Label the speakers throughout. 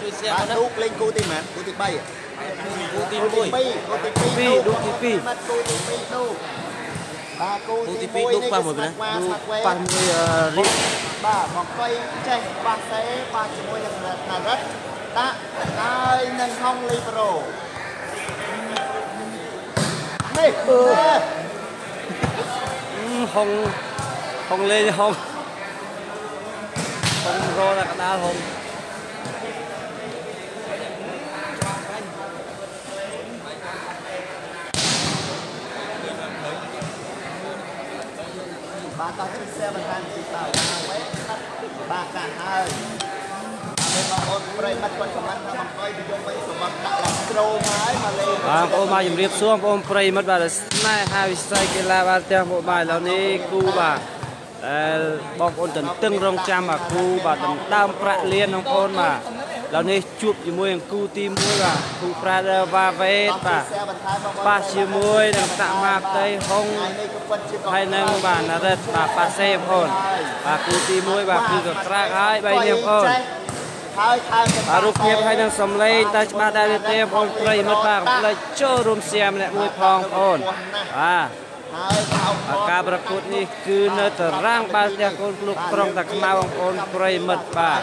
Speaker 1: ជួយសៀ
Speaker 2: បាទឌូកលេងគូទីប៉ុន្មានគូទី3
Speaker 1: គូទី
Speaker 2: 1គូទី2ឌូកទី2បាទគូទី2ឌូកបាទគូទី
Speaker 1: 2ឌូកប៉ះមួយណា
Speaker 3: ប៉ះមួយរី
Speaker 2: បាទមកកុយចេះប៉ះសេប៉ះជាមួយនឹងណារិតដាក់ហើយនឹងហុងលីប្រូនេះ
Speaker 3: ហុងហុងលេងហុងហុងរដល់កដាលហុង
Speaker 2: បាទតោះជួយ share បន្ថែមទីបាទបាទកាហើយមានបងប្អូនប្រិយមិត្តគាត់ខមមិនថាបង្កយពីយកវិញសម្បត្តិដាក់ឡើងក្រោមហើយមកលេង
Speaker 3: បាទបងប្អូនមកជំរាបសួរបងប្អូនប្រិយមិត្តបាទស្នេហាវិស័យកីឡាបាទទាំងពួកបាទឥឡូវនេះគូបាទដែលបងប្អូនទន្ទឹងរង់ចាំបាទគូបាទដណ្ដើមប្រាក់លានបងប្អូនបាទឥឡូវនេះជួបជាមួយនឹងគូទី1បាទគូប្រាដវ៉ាវេតបាទប៉ះជាមួយនឹងតាក់ម៉ាផ្ទៃហុងហើយនឹងបាទណារិតបាទប៉ាសេបងប្អូនបាទគូទី1បាទគឺកក្រាកហើយ3នេះបងប្អូន
Speaker 2: ហើយថែម
Speaker 3: បាទរូបភាពហើយនឹងសំឡេងតើច្បាស់ដែរទេបងប្អូនប្រិយមិត្តបាទកុំភ្លេចចូលរួមសៀមម្នាក់មួយផងបងប្អូនបាទ
Speaker 2: ហើយ
Speaker 3: ការប្រកួតនេះគឺនៅតារាងបាល់ទះកូនក្លុកក្រុងតាខ្មៅបងប្អូនប្រិយមិត្តបាទ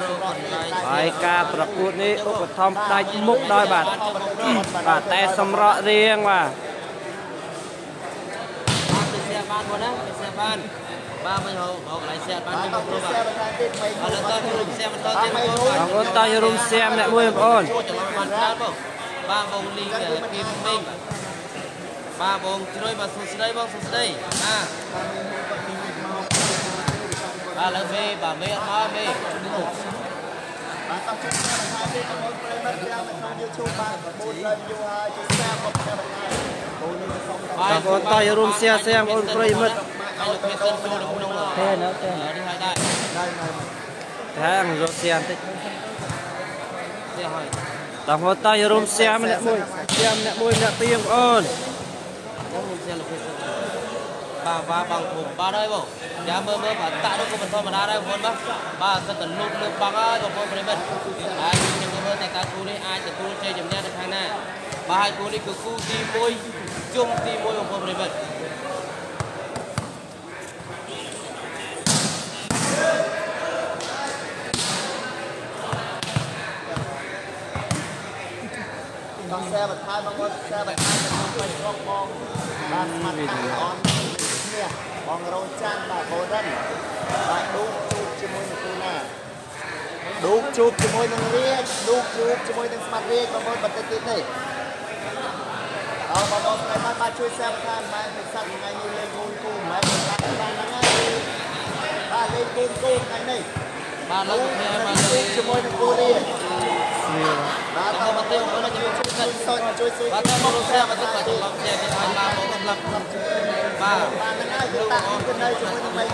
Speaker 3: ហើយការប្រកួតនេះឧបត្ថម្ភផ្ដាច់មុខដោយបាទបាទតែសម្រក់រៀងបាទ
Speaker 1: បានបងណាសៀបានបាទមិនហៅកន្លែងសៀបានខ្ញុំគ្រូបាទឥឡូវតចូលសៀបន្តទៀតបង
Speaker 3: បងប្អូនតចូលរួមសៀម្នាក់មួយបងប្អូន
Speaker 1: ចូលច្រឡំបានច្រើនបងបាទបងលីគីមីងបាទបងជ្រុយបាទសួស្ដីបងសួស្ដីបាទបាទលើមេបាទមេអត់មកមេ
Speaker 2: បាទតោះជួយ share បន្ថែមទៀតបងប្អូនប្រិយមិត្តទាំងនៅក្នុង YouTube បាទ400 view ហើយជួយ share មក share បន្ថែមបងនេះសូម
Speaker 3: បងប្អូនតោះរួម share share បងប្អូនប្រិយមិត្ត
Speaker 1: ហើយលោកភេសិនចូលក្នុង
Speaker 3: ទេនៅទេ
Speaker 1: នេះហើយដែរ
Speaker 2: ដែរនៅ
Speaker 3: តែអង្គរក share បន្តិច
Speaker 1: share ហើយ
Speaker 3: តោះបងតោះរួម share ម្នាក់មួយ share ម្នាក់មួយម្នាក់ពីរបងប្អូន
Speaker 1: បងរួម share លោកភេសិនបាទបាទបងធំបាទហើយបងយ៉ាមើលមើលបាទតាក់នោះក៏មិនធម្មតាដែរបងប្អូនបាទបាទសិតតែលូតលើបងហើយបងប្អូនប្រិមិត្តហើយខ្ញុំមើលតែតើគូនេះអាចទទួលជ័យជំនះនៅខាងណាបាទហើយគូនេះគឺគូទី1ជុំទី1បងប្អូនប្រិមិត្ត
Speaker 2: តោះ share បន្ថែមបងប្អូន share បន្ថែមនៅក្នុង Facebook បងបាទស្មាត់តាអននេះបងរោច័ន្ទបាទបូរិនបាទឌូកជួបជាមួយនឹងគូណាឌូកជួបជាមួយនឹងរាជឌូកជួបជាមួយនឹងស្មាត់រាជបងប្អូនបន្តិចទៀតនេះអរបងប្អូនប្រិយមិត្តបាទជួយ share បន្ថែមម៉ែពិសិដ្ឋថ្ងៃនេះលេងគូគូម៉ែពិសិដ្ឋបានហ្នឹងហើយបាទលេងគូគូថ្ងៃនេះ
Speaker 1: បាទលោកគ្នាបាទ
Speaker 2: លេងជាមួយនឹងគូរាជបាទតមកទៀតបងប្អូនជួយជួយសុចជួយជួយ
Speaker 1: បាទតមកលោក share បាទបាទច្រឡំ share ទៀតឲ្យបាទមកសម្រាប់បាទ
Speaker 2: បាទហ្នឹងហើយគឺតាក់គឺនៅជាមួយនឹងមេង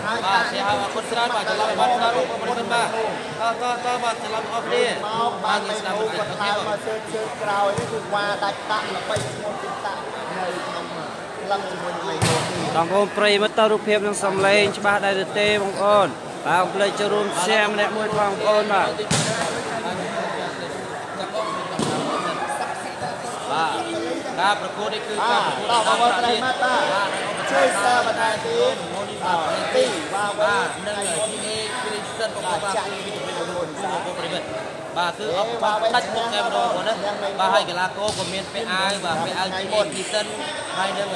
Speaker 2: ហើយ
Speaker 1: បាទ share ឲ្យអរគុណច្រើនបាទច្រឡំបាទច្រើនបងប្អូនបាទតតតបាទច្រឡំអស់គ្នា
Speaker 2: មកបាទមេងគាត់ថើមកជើជើក្រោយនេះគឺវ៉ាដាច់តាក់ល្បីឈ្មោះទីតាក់នៅក្នុងក្លឹបជាមួយនឹងមេងទី
Speaker 3: បងប្អូនប្រិយមិត្តតរូបភាពនឹងសំឡេងច្បាស់ដែរទេបងប្អូនបាទកុំភ្លេចចូលរួម share ម្នាក់មួយបងប្អូនបាទ
Speaker 1: បាទការប្រកួតនេះគឺការប្រកួត
Speaker 2: តបងប្អូនប្រិយមិត្តបាទជួយ share បន្ថែមទៀតបាទទីបាទ
Speaker 1: បាទនឹង GA គ្រីសិនបងប្អូនបាទគឺវីដេអូបងប្អូនប្រិមិត្តបាទគឺអបដាច់មុខតែម្ដងបងណាបាទហើយកីឡាករក៏មានពាក់អាវបាទពាក់អាវ GA គ្រីសិនហើយនឹង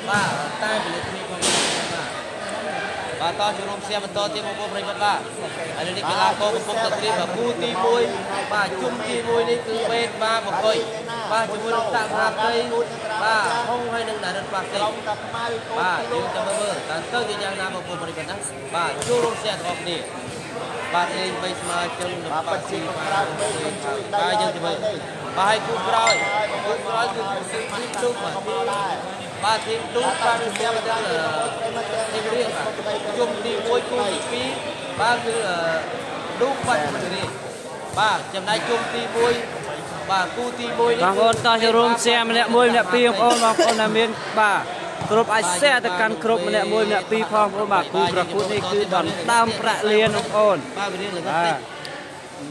Speaker 1: បាទតែពលិតគ្នាផងបាទបាទតចូលរួមសៀបន្តទៀតបងប្អូនប្រិមិត្តបាទហើយនេះកីឡាករកំពុងតែត្រៀមគូទី1បាទជុំទី1នេះគឺបេតបាទបកុយបាទជាមួយនឹងតាក់ផាផ្ទៃបាទហុងហើយនឹងដារិតប៉ាសេបាទយើងចាំមើលតើទៅជាយ៉ាងណាបងប្អូនប្រិមិត្តណាបាទចូលរួមសៀទាំងអស់គ្នាបាទលេងបីស្មើជឹងនឹងប៉ាស៊ីបាទបាទយើងទៅមើលបាទហើយគូក្រោយគូក្រោយគឺធីមទូបាទបាទធីមទូបាទជាមួយនឹងធីមរៀងបាទជុំទី1គូទី2បាទគឺឌូបាត់រៀងបាទចំណែកជុំទី1បាទគូទី1នេះ
Speaker 3: បងប្អូនតោះចូលរួម share ម្នាក់មួយម្នាក់ពីរបងប្អូនបងប្អូនដែលមានបាទគ្រប់អាច share ទៅកាន់គ្រប់ម្នាក់មួយម្នាក់ពីរផងបងប្អូនបាទគូប្រកួតនេះគឺដណ្ដើមប្រាក់លានបងប្អូន
Speaker 1: បាទវារៀងល្ងឹត
Speaker 3: បាទ
Speaker 1: តិច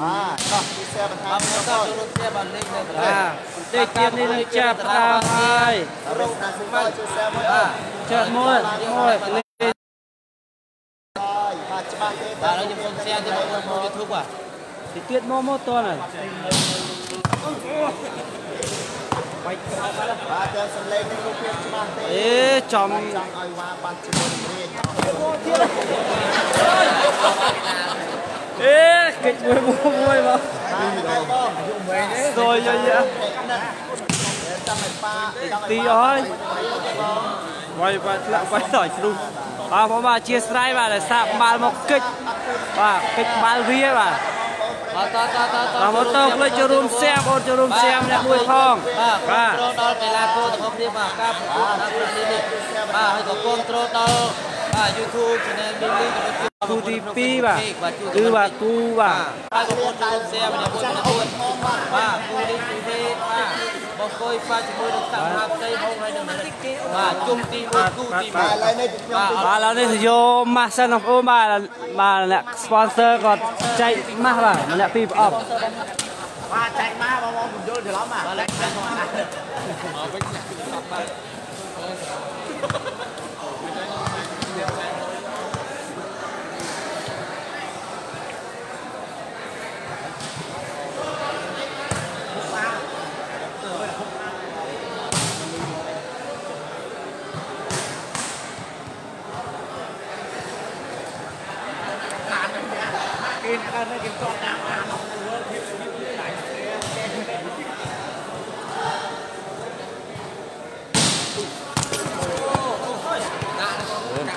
Speaker 2: បាទតោះទីសែបន្ថែម
Speaker 1: បាទ
Speaker 2: បង
Speaker 1: ចូលរួម share បាទលេខនៅកន្លែ
Speaker 3: បាទ
Speaker 1: ង
Speaker 3: បន្តិចទៀតនេះនឹងចាប់ផ្ដើមហើយ
Speaker 2: រកណាសិជួយសែមួយ
Speaker 1: បាទ
Speaker 3: ចាត់មួយមួយលេខ
Speaker 2: ហើយបាទច្បាស់ទេ
Speaker 1: បាទឥឡូវខ្ញុំសូម share ទៅបងប្អូន YouTube បាទ
Speaker 3: តិចទៀតមកមកតន់ហើយ
Speaker 2: បាទតែសំឡេងនេះរូបភាពច្បាស់ទេ
Speaker 3: អេចំ
Speaker 2: ចង់ឲ្យវ៉ាបាត់ជាមួយនឹងរាជ
Speaker 3: អេកិច្ចមួយមួយមក
Speaker 2: បាទហ្នឹងបង
Speaker 3: សយយាយ
Speaker 2: ចង់ឲ្យប៉ាចង់ឲ្យ
Speaker 3: ទីអស់ហើយវាយបាទធ្លាក់វាយដល់ជ្រុះបាទបងបាទអធិស្ឋានបាទដែលសាកបាល់មកកិច្ចបាទកិច្ចបាល់វាបាទ
Speaker 1: បាទតតតត
Speaker 3: បាទមកតផ្លេចចូលរួម share បងចូលរួម share ម្នាក់មួយផង
Speaker 1: បាទ
Speaker 3: បាទ
Speaker 1: គ្រប់គ្រងដល់កីឡាករទាំងអស់គ្នាបាទការប្រកួតដល់ប្រទេសនេះបាទហើយក៏គ្រប់គ្រងដល់បាទ YouTube Channel Mili ក៏ដូចជា
Speaker 3: គូទី2បាទគឺបាទគូបាទ
Speaker 1: ហើយក៏បងចូល share ម្នាក់មួយម្នាក់មួយបាទគូនេះគូទេបាទបងកុយបាទជាមួយនឹងសហមហាផ្ទៃហងហើយនឹងបាទជុំទី1គូទី1
Speaker 2: បាទឥឡូវនេះខ្ញុំ
Speaker 3: បាទឥឡូវនេះយកម៉ាស់សិនបងប្អូនបាទបាទអ្នក sponsor គាត់ចែកម៉ាស់បាទម្នាក់ពីរប្រអប់
Speaker 4: បាទចែកមកបងបងពន្យល់ច្រឡំបាទ
Speaker 1: បាទមកវិញបាទ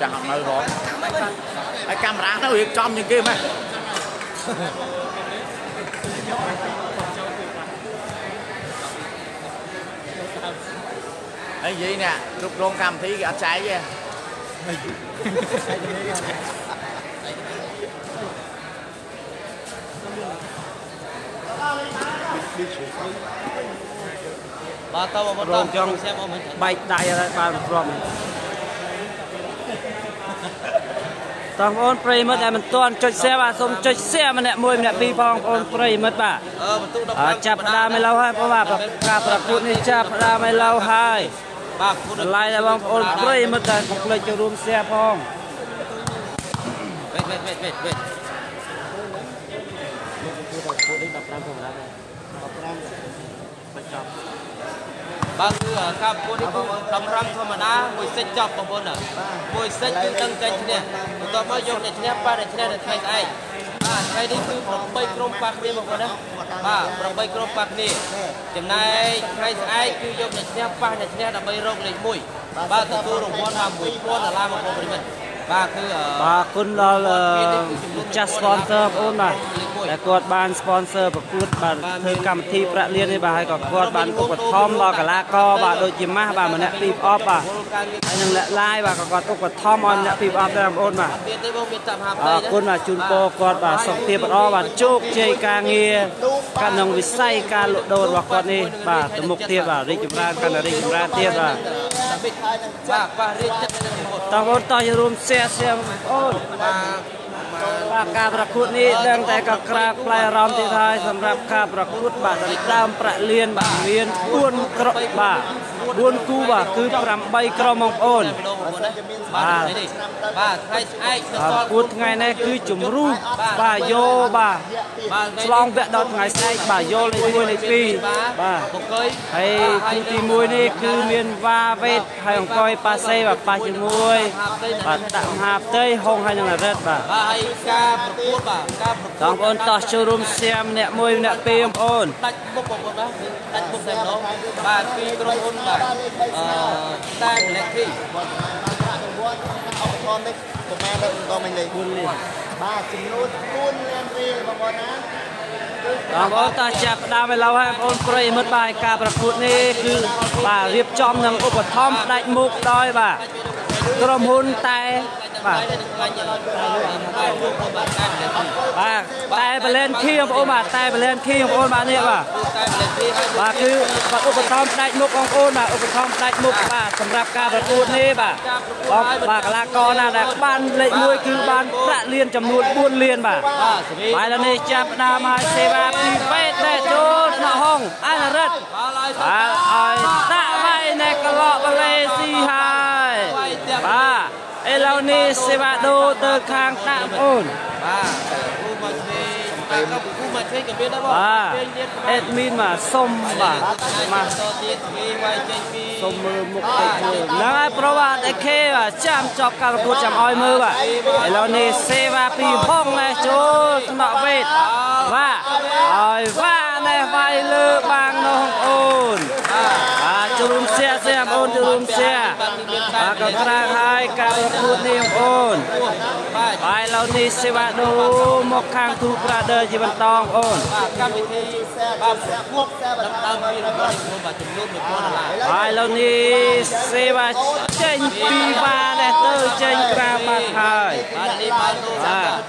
Speaker 4: ចាស់អត់នៅហងហើយកាមេរ៉ាទៅរៀបចំជាងគេម៉េចហើយនិយាយនេះគ្រប់គ្រងកម្មវិធីគេអត់ចែកទេ
Speaker 1: បាទតបង
Speaker 3: រងចង់
Speaker 1: សែបងមិន
Speaker 3: បែកដៃហើយបានព្រមតោះបងប្អូនប្រិយមិត្តដែលមិនទាន់ចុច share បាទសូមចុច share ម្នាក់មួយម្នាក់ពីរផងបងប្អូនប្រិយមិត្តបាទ
Speaker 1: អឺបន្ទុក
Speaker 3: អើចាប់ផ្ដើមឲ្យឡូវហើយបងបាទការប្រកួតនេះចាប់ផ្ដើមឲ្យឡូវហើយ
Speaker 1: បាទគូ
Speaker 3: តម្លៃដល់បងប្អូនប្រិយមិត្តដែលកុំភ្លេចចូលរួម share ផង
Speaker 1: វេតវេតវេតវេតវេតបាទគឺការប្រកួតនេះគឺ15ធម្មតាមួយសិចចប់បងប្អូនណាមួយសិចគឺដឹងចេញឈ្នះបន្ទាប់មកយកអ្នកឈ្នះប៉ះអ្នកឈ្នះនៅថ្ងៃស្អែកបាទថ្ងៃនេះគឺ8ក្រុមប៉ះគ្នាបងប្អូនណាបាទ8ក្រុមប៉ះគ្នាចំណែកថ្ងៃស្អែកគឺយកអ្នកឈ្នះប៉ះអ្នកឈ្នះដើម្បីរកលេខ1បាទទទួលរង្វាន់បាទ1000ដុល្លារបងប្អូនប្រិយមិត្តបាទគឺ
Speaker 3: បាទគុណដល់ម្ចាស់ sponsor បងប្អូនបាទដែលគាត់បាន sponsor ប្រកួតបាទធ្វើកម្មវិធីប្រាក់លាននេះបាទហើយក៏គាត់បានឧបត្ថម្ភដល់កីឡាករបាទដូចជាម៉ាស់បាទម្នាក់ពីរប្រអប់បាទហើយនឹងអ្នកឡាយបាទក៏គាត់ឧបត្ថម្ភឲ្យម្នាក់ពីរប្រអប់ដែរបងប្អូនបាទ
Speaker 1: ទៀតទេបងមានតាមហា
Speaker 3: អរគុណបាទជូនពរគាត់បាទសុខភាពល្អបាទជោគជ័យការងារក្នុងវិស័យការលក់ដូររបស់គាត់នេះបាទទៅមុខទៀតបាទរីកចម្រើនកាន់តែរីកចម្រើនទៀតបាទ
Speaker 1: បាទប៉ះរាជចិត្តនឹងមុខ
Speaker 3: តោះបងតោះចូលរួម share share បងប្អូន
Speaker 1: បាទ
Speaker 3: បាទការប្រកួតនេះដឹងតែក៏ក្រាបផ្លែអារម្មណ៍ទៀតហើយសម្រាប់ការប្រកួតបាទដណ្ដើមប្រាក់លានបាទមាន4ក្រុមបាទ4គូបាទគឺ8ក្រុមបងប្អូន
Speaker 1: បាទនេះបាទថ្ងៃស្អែកនៅស
Speaker 3: ប្រ
Speaker 1: ល់
Speaker 3: កួតថ្ងៃនេះគឺជំរុះបាទយោបាទ
Speaker 1: បាទ
Speaker 3: ឆ្លងវគ្គដល់ថ្ងៃស្អែកបាទយោលេខ1លេខ2បាទ
Speaker 1: បង្គី
Speaker 3: ហើយគូទី1នេះគឺមានវ៉ាវេតហើយអង្គុយប៉ាសេបាទប៉ះជាមួយបាទដាក់មហាផ្ទៃហុងហើយនឹងរិទ្ធបាទ
Speaker 1: បាទហើយការប្រកួតបាទការប្រកួត
Speaker 3: បងប្អូនតោះចូលរួម share ម្នាក់មួយម្នាក់ពីរបងប្អូន
Speaker 1: ដាច់មុខបងប្អូនបាទដាច់មុខតែម្ដងបាទពីក្រុមហ៊ុនបាទអឺតែកលេធី
Speaker 2: បាទប្រាក់រង្វាន់ឧបករណ៍នេះប្រហែលដល់បន្តមិញលេខ
Speaker 3: 4លាន
Speaker 2: បាទចំនួន4លានរៀលបងប្អូនណា
Speaker 3: បងប្អូនតោះចាប់ផ្ដើមឲ្យឡូវហើយបងប្អូនប្រិយមិត្តបាទការប្រកួតនេះគឺបាទរៀបចំនឹងឧបត្ថម្ភផ្ដាច់មុខដោយបាទក្រុមហ៊ុនតែ បាទបាទតែបលែនខៀបងប្អូនបាទតែបលែនខៀបងប្អូនបាទនេះបាទបាទគឺបាទឧបត្ថម្ភផ្ដាច់មុខបងប្អូនបាទឧបត្ថម្ភផ្ដាច់មុខបាទសម្រាប់ការប្រកួតនេះបាទបងបាទកីឡាករណាដែលបានលេខ1គឺបានប្រាក់លានចំនួន4លានបាទបាទឥឡូវនេះចាប់ផ្ដើមហើយសេវាពីវេតដែលចូលថ្នាក់ហងអនុរិទ្ធបាទឲ្យដាក់វាយនៅក្លកម៉ាឡេស៊ីហើយបាទឥឡូវនេះសេវាដូរទៅខាងដាក់បងអូន
Speaker 1: បាទគូមកឆ្វេងគូមកឆ្វេងក៏មានដែរបង
Speaker 3: បាទអេដមីនបាទសុំបាទមកសុំមើលមុខតិចមើលហ្នឹងហើយប្រវត្តិអេខេបាទចាំចប់ការប្រកួតចាំឲ្យមើលបាទឥឡូវនេះសេវាពីហងនេះចូលថ្នាក់វេតបាទឲ្យវ៉ានេះវាយលើបាងនោះអូនបាទចូលរួមសៀសៀបងអូនចូលរួមសៀបាទក៏ក្រាងហើយការប្រកួតនេះបងអូនបាទឥឡូវនេះសេវាដូមកខាងទូប្រាដឺជាបន្តបងអូន
Speaker 1: បាទកម្មវិធីបាទប្រកួតដើមពីរបស់បាទចំនួន1000ដុល្លារ
Speaker 3: បាទឥឡូវនេះសេវាចេញពីវ៉ានេះទៅចេញក្រៅបាត់ហើយ
Speaker 1: បាទនេះបាទ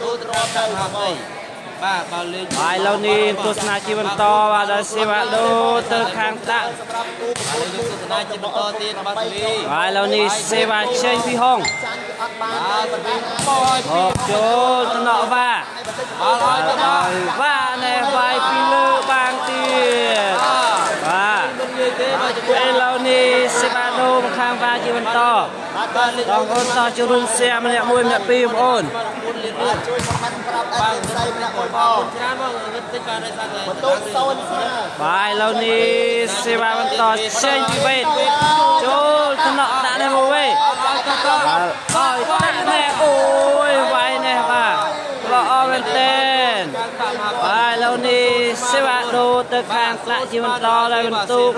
Speaker 1: ទូទៅរត់ទៅហើយបាទបើលេង
Speaker 3: បាទឥឡូវនេះទស្សនាជាបន្តបាទដល់សេវាដូទៅខាងដាក់
Speaker 1: បាទយើងទស្សនាជាបន្តទៀតបាទសេវី
Speaker 3: បាទឥឡូវនេះសេវាចេញពីហងមកចូលថ្នាក់វ៉ា
Speaker 1: បាទ
Speaker 3: ឲ្យវ៉ានេះវាយពីលើបាងទៀតបាទឥឡូវនេះសេវាដូមកខាងវ៉ាជាបន្តបងប្អូនតោះចូលរួមសៀម្នាក់មួយម្នាក់ពីរបងប្អូន
Speaker 2: ជួយខមមិនប្រាប់អីផ្សេងម្នាក់មួយផង
Speaker 1: ច្រើនមកងឹតតិចបាទដោយសារតែ
Speaker 2: បន្ទុកសូនស្មើ
Speaker 3: បាទឥឡូវនេះសេវាបន្តចេញពីវេតចូលថ្នាក់ដាក់នេះមកវិញបាទឲ្យដាក់នេះអូយវាយនេះបាទល្អមែនទែនបាទឥឡូវនេះសេវាដូរទៅខាងថ្នាក់ជាបន្តហើយបន្ទុក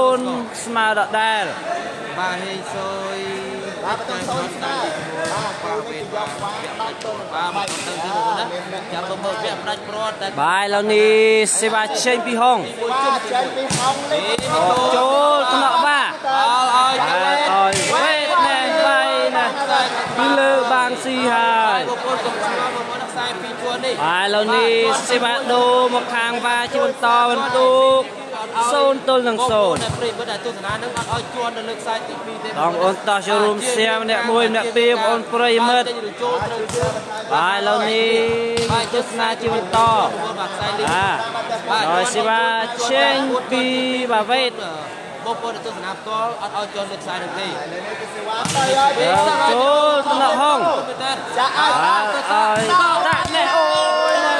Speaker 3: 0ស្មើដដែល
Speaker 1: បាទហេសុយ
Speaker 2: បាទបន្ទុក0ស្មើបាទគូនេះយកវ៉ាដាច់ទៅ
Speaker 1: បាទទៅទីបងណាចាំមើលវគ្គផ្ដាច់ព្រាត់តែ
Speaker 3: បាទឥឡូវនេះសេវាចេញពីហង
Speaker 2: បាទចេញពីហងនេះ
Speaker 3: ចូលថ្នាក់វ៉ា
Speaker 1: ឲ្យ
Speaker 3: ឲ្យវេតនេះវាយណាពីលើបាងស៊ីហើយ
Speaker 1: បងប្អូនកុំឆ្ងល់បងប្អូនខ្សែពីរជួរនេះ
Speaker 3: បាទឥឡូវនេះសេវាដូរមកខាងវ៉ាជាបន្តបន្ទុក0ទល់នឹង0
Speaker 1: ប្រិយមិត្តដែលទស្សនានឹងអត់ឲ្យជន់នៅលើខ្សែទី2ទេ
Speaker 3: បងប្អូនតោះចូលរួមសៀម្នាក់មួយម្នាក់ពីរបងប្អូនប្រិយមិត្តបាទឥឡូវនេះទស្សនាជាបន្តបាទហើយសេវាចេញពីបាវេត
Speaker 1: បងប្អូនទស្សនាផ្ទាល់អត់ឲ្យជន់លើខ្សែនោះទេ
Speaker 3: ចូលថ្នាក់ហង
Speaker 2: ចាឲ្យ
Speaker 3: ដាក់នេះអូយណា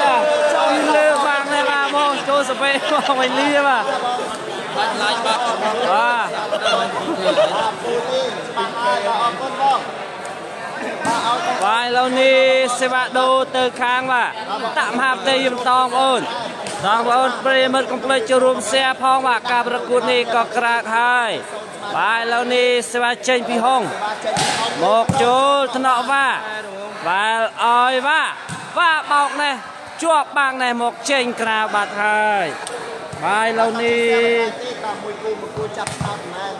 Speaker 3: ចូលលើបាងនេះបាទមកចូលសពេមកវិញលីបាទ
Speaker 1: បាទឡាយបាទ
Speaker 3: បាទ
Speaker 2: ពូនេះច្បាស់ហើយបាទអរគុណបង
Speaker 3: បាទឥឡូវនេះសេវាដូរទៅខាងបាទតាក់មហាផ្ទៃបន្តបងប្អូនបងប្អូនប្រិយមិត្តកុំភ្លេចចូលរួម share ផងបាទការប្រកួតនេះក៏ក្រាកហើយបាទឥឡូវនេះសេវាចេញពីហងមកចូលថ្នាក់វ៉ាបាទឲ្យវ៉ាវ៉ាបោកនេះជាប់បាងនេះមកចេញក្រៅបាត់ហើយបាទឥឡូវនេះ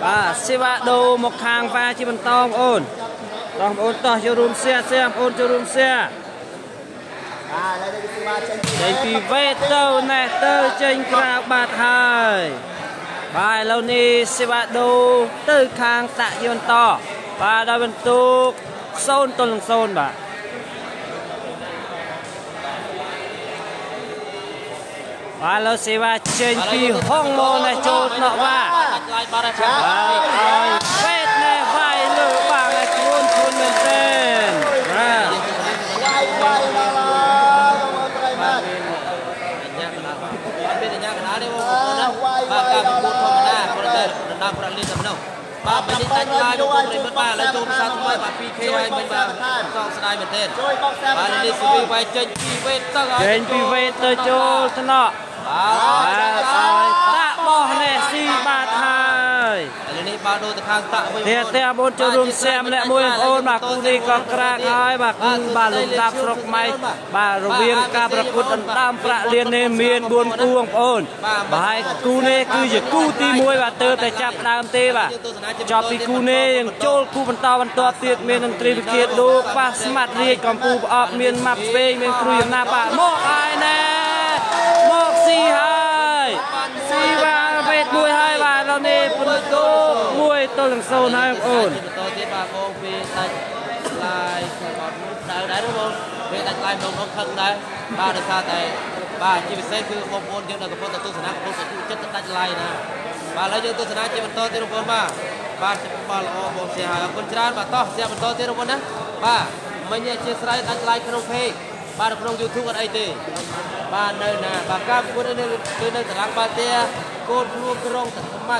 Speaker 3: បាទសេវាដូរមកខាងវ៉ាជាបន្តបងប្អូនបងប្អូនតោះចូលរួម share បងប្អូនចូលរួម share ចេញពីវេតទៅណែទៅចេញក្រៅបាត់ហើយបាទឥឡូវនេះសេវាដូរទៅខាងតាក់យន្តបាទដល់បន្ទុក0ទល់នឹង0បាទបាទឥឡូវសេវាចេញពីហងមកណែចូលថ្នាក់វ៉ាបាទឲ្យវេតណែវាយលើបាងឲ្យខ្លួនខ្លួនមែនទែនបាទ
Speaker 2: វាយវាយដល់ហើយបងប្អូនប្រិយមិត្ត
Speaker 1: អត់មានសញ្ញាកណ្ដាលទេបងប្អូនណាបាទការប្រកួតធម្មតាគ្រាន់តែដណ្ដើមប្រាក់លានតែប៉ុណ្ណោះបាទបញ្ញដាច់ឡាយបងប្អូនប្រិយមិត្តបាទឥឡូវចូលភាសាថ្មីបាទ 2K ហើយមិញបាទសងស្ដាយមែនទែន
Speaker 2: ជួយបោកសែ
Speaker 1: បាទនេះស៊ីវីវាយចេញពីវេតទៅ
Speaker 3: ចេញពីវេតទៅចូលថ្នាក់
Speaker 1: បាទ
Speaker 3: ឲ្យដាក់បោះនេះស៊ីបាទហើយ
Speaker 1: ឥឡូវនេះ បាល់ដូរទៅខាងតាក់វិញ
Speaker 3: ទេបងចូលរួមសែម្នាក់មួយបងប្អូនបាទគូនេះក៏ក្រាកហើយបាទគូបាទលំដាប់ស្រុកខ្មែរបាទរវាងការប្រកួតដណ្ដើមប្រាក់លាននេះមាន4គូបងប្អូនបាទហើយគូនេះគឺជាគូទី1បាទទើបតែចាប់ដើមទេបាទចប់ពីគូនេះយើងចូលគូបន្តបន្ទាប់ទៀតមានតន្ត្រីវិជាដូប៉ះស្មាត់រាជកំពូលប្រអប់មានម៉ាប់ស្វេងមានគ្រូយណាបាទមកហើយណែមកស៊ីហើយស៊ីបាទវេតមួយហើយបាទដល់នេះពុនតូ1-0ហើយបងប្អូន
Speaker 1: បន្តទៀតបាទបងពីដាច់ឡាយខ្ញុំអត់ដៅដែរបងពេលដាច់ឡាយបងខឹងដែរបាទដោយសារតែបាទជាពិសេសគឺបងប្អូនយើងដែលកំពុងតែទស្សនាកំពុងតែជក់ចិត្តដាច់ឡាយណាបាទឥឡូវយើងទស្សនាជាបន្តទៀតបងប្អូនបាទបាទបាទល្អបងសៀហើយអរគុណច្រើនបាទតោះសៀបន្តទៀតបងប្អូនណាបាទមិញអធិស្ឋានដាច់ឡាយក្នុង page បាទក្នុង YouTube អត់អីទេបាទនៅណាបាទការប្រកួតនេះគឺនៅតារាងបាល់ទះកូនខ្លួនក្រុងតាខ្មៅ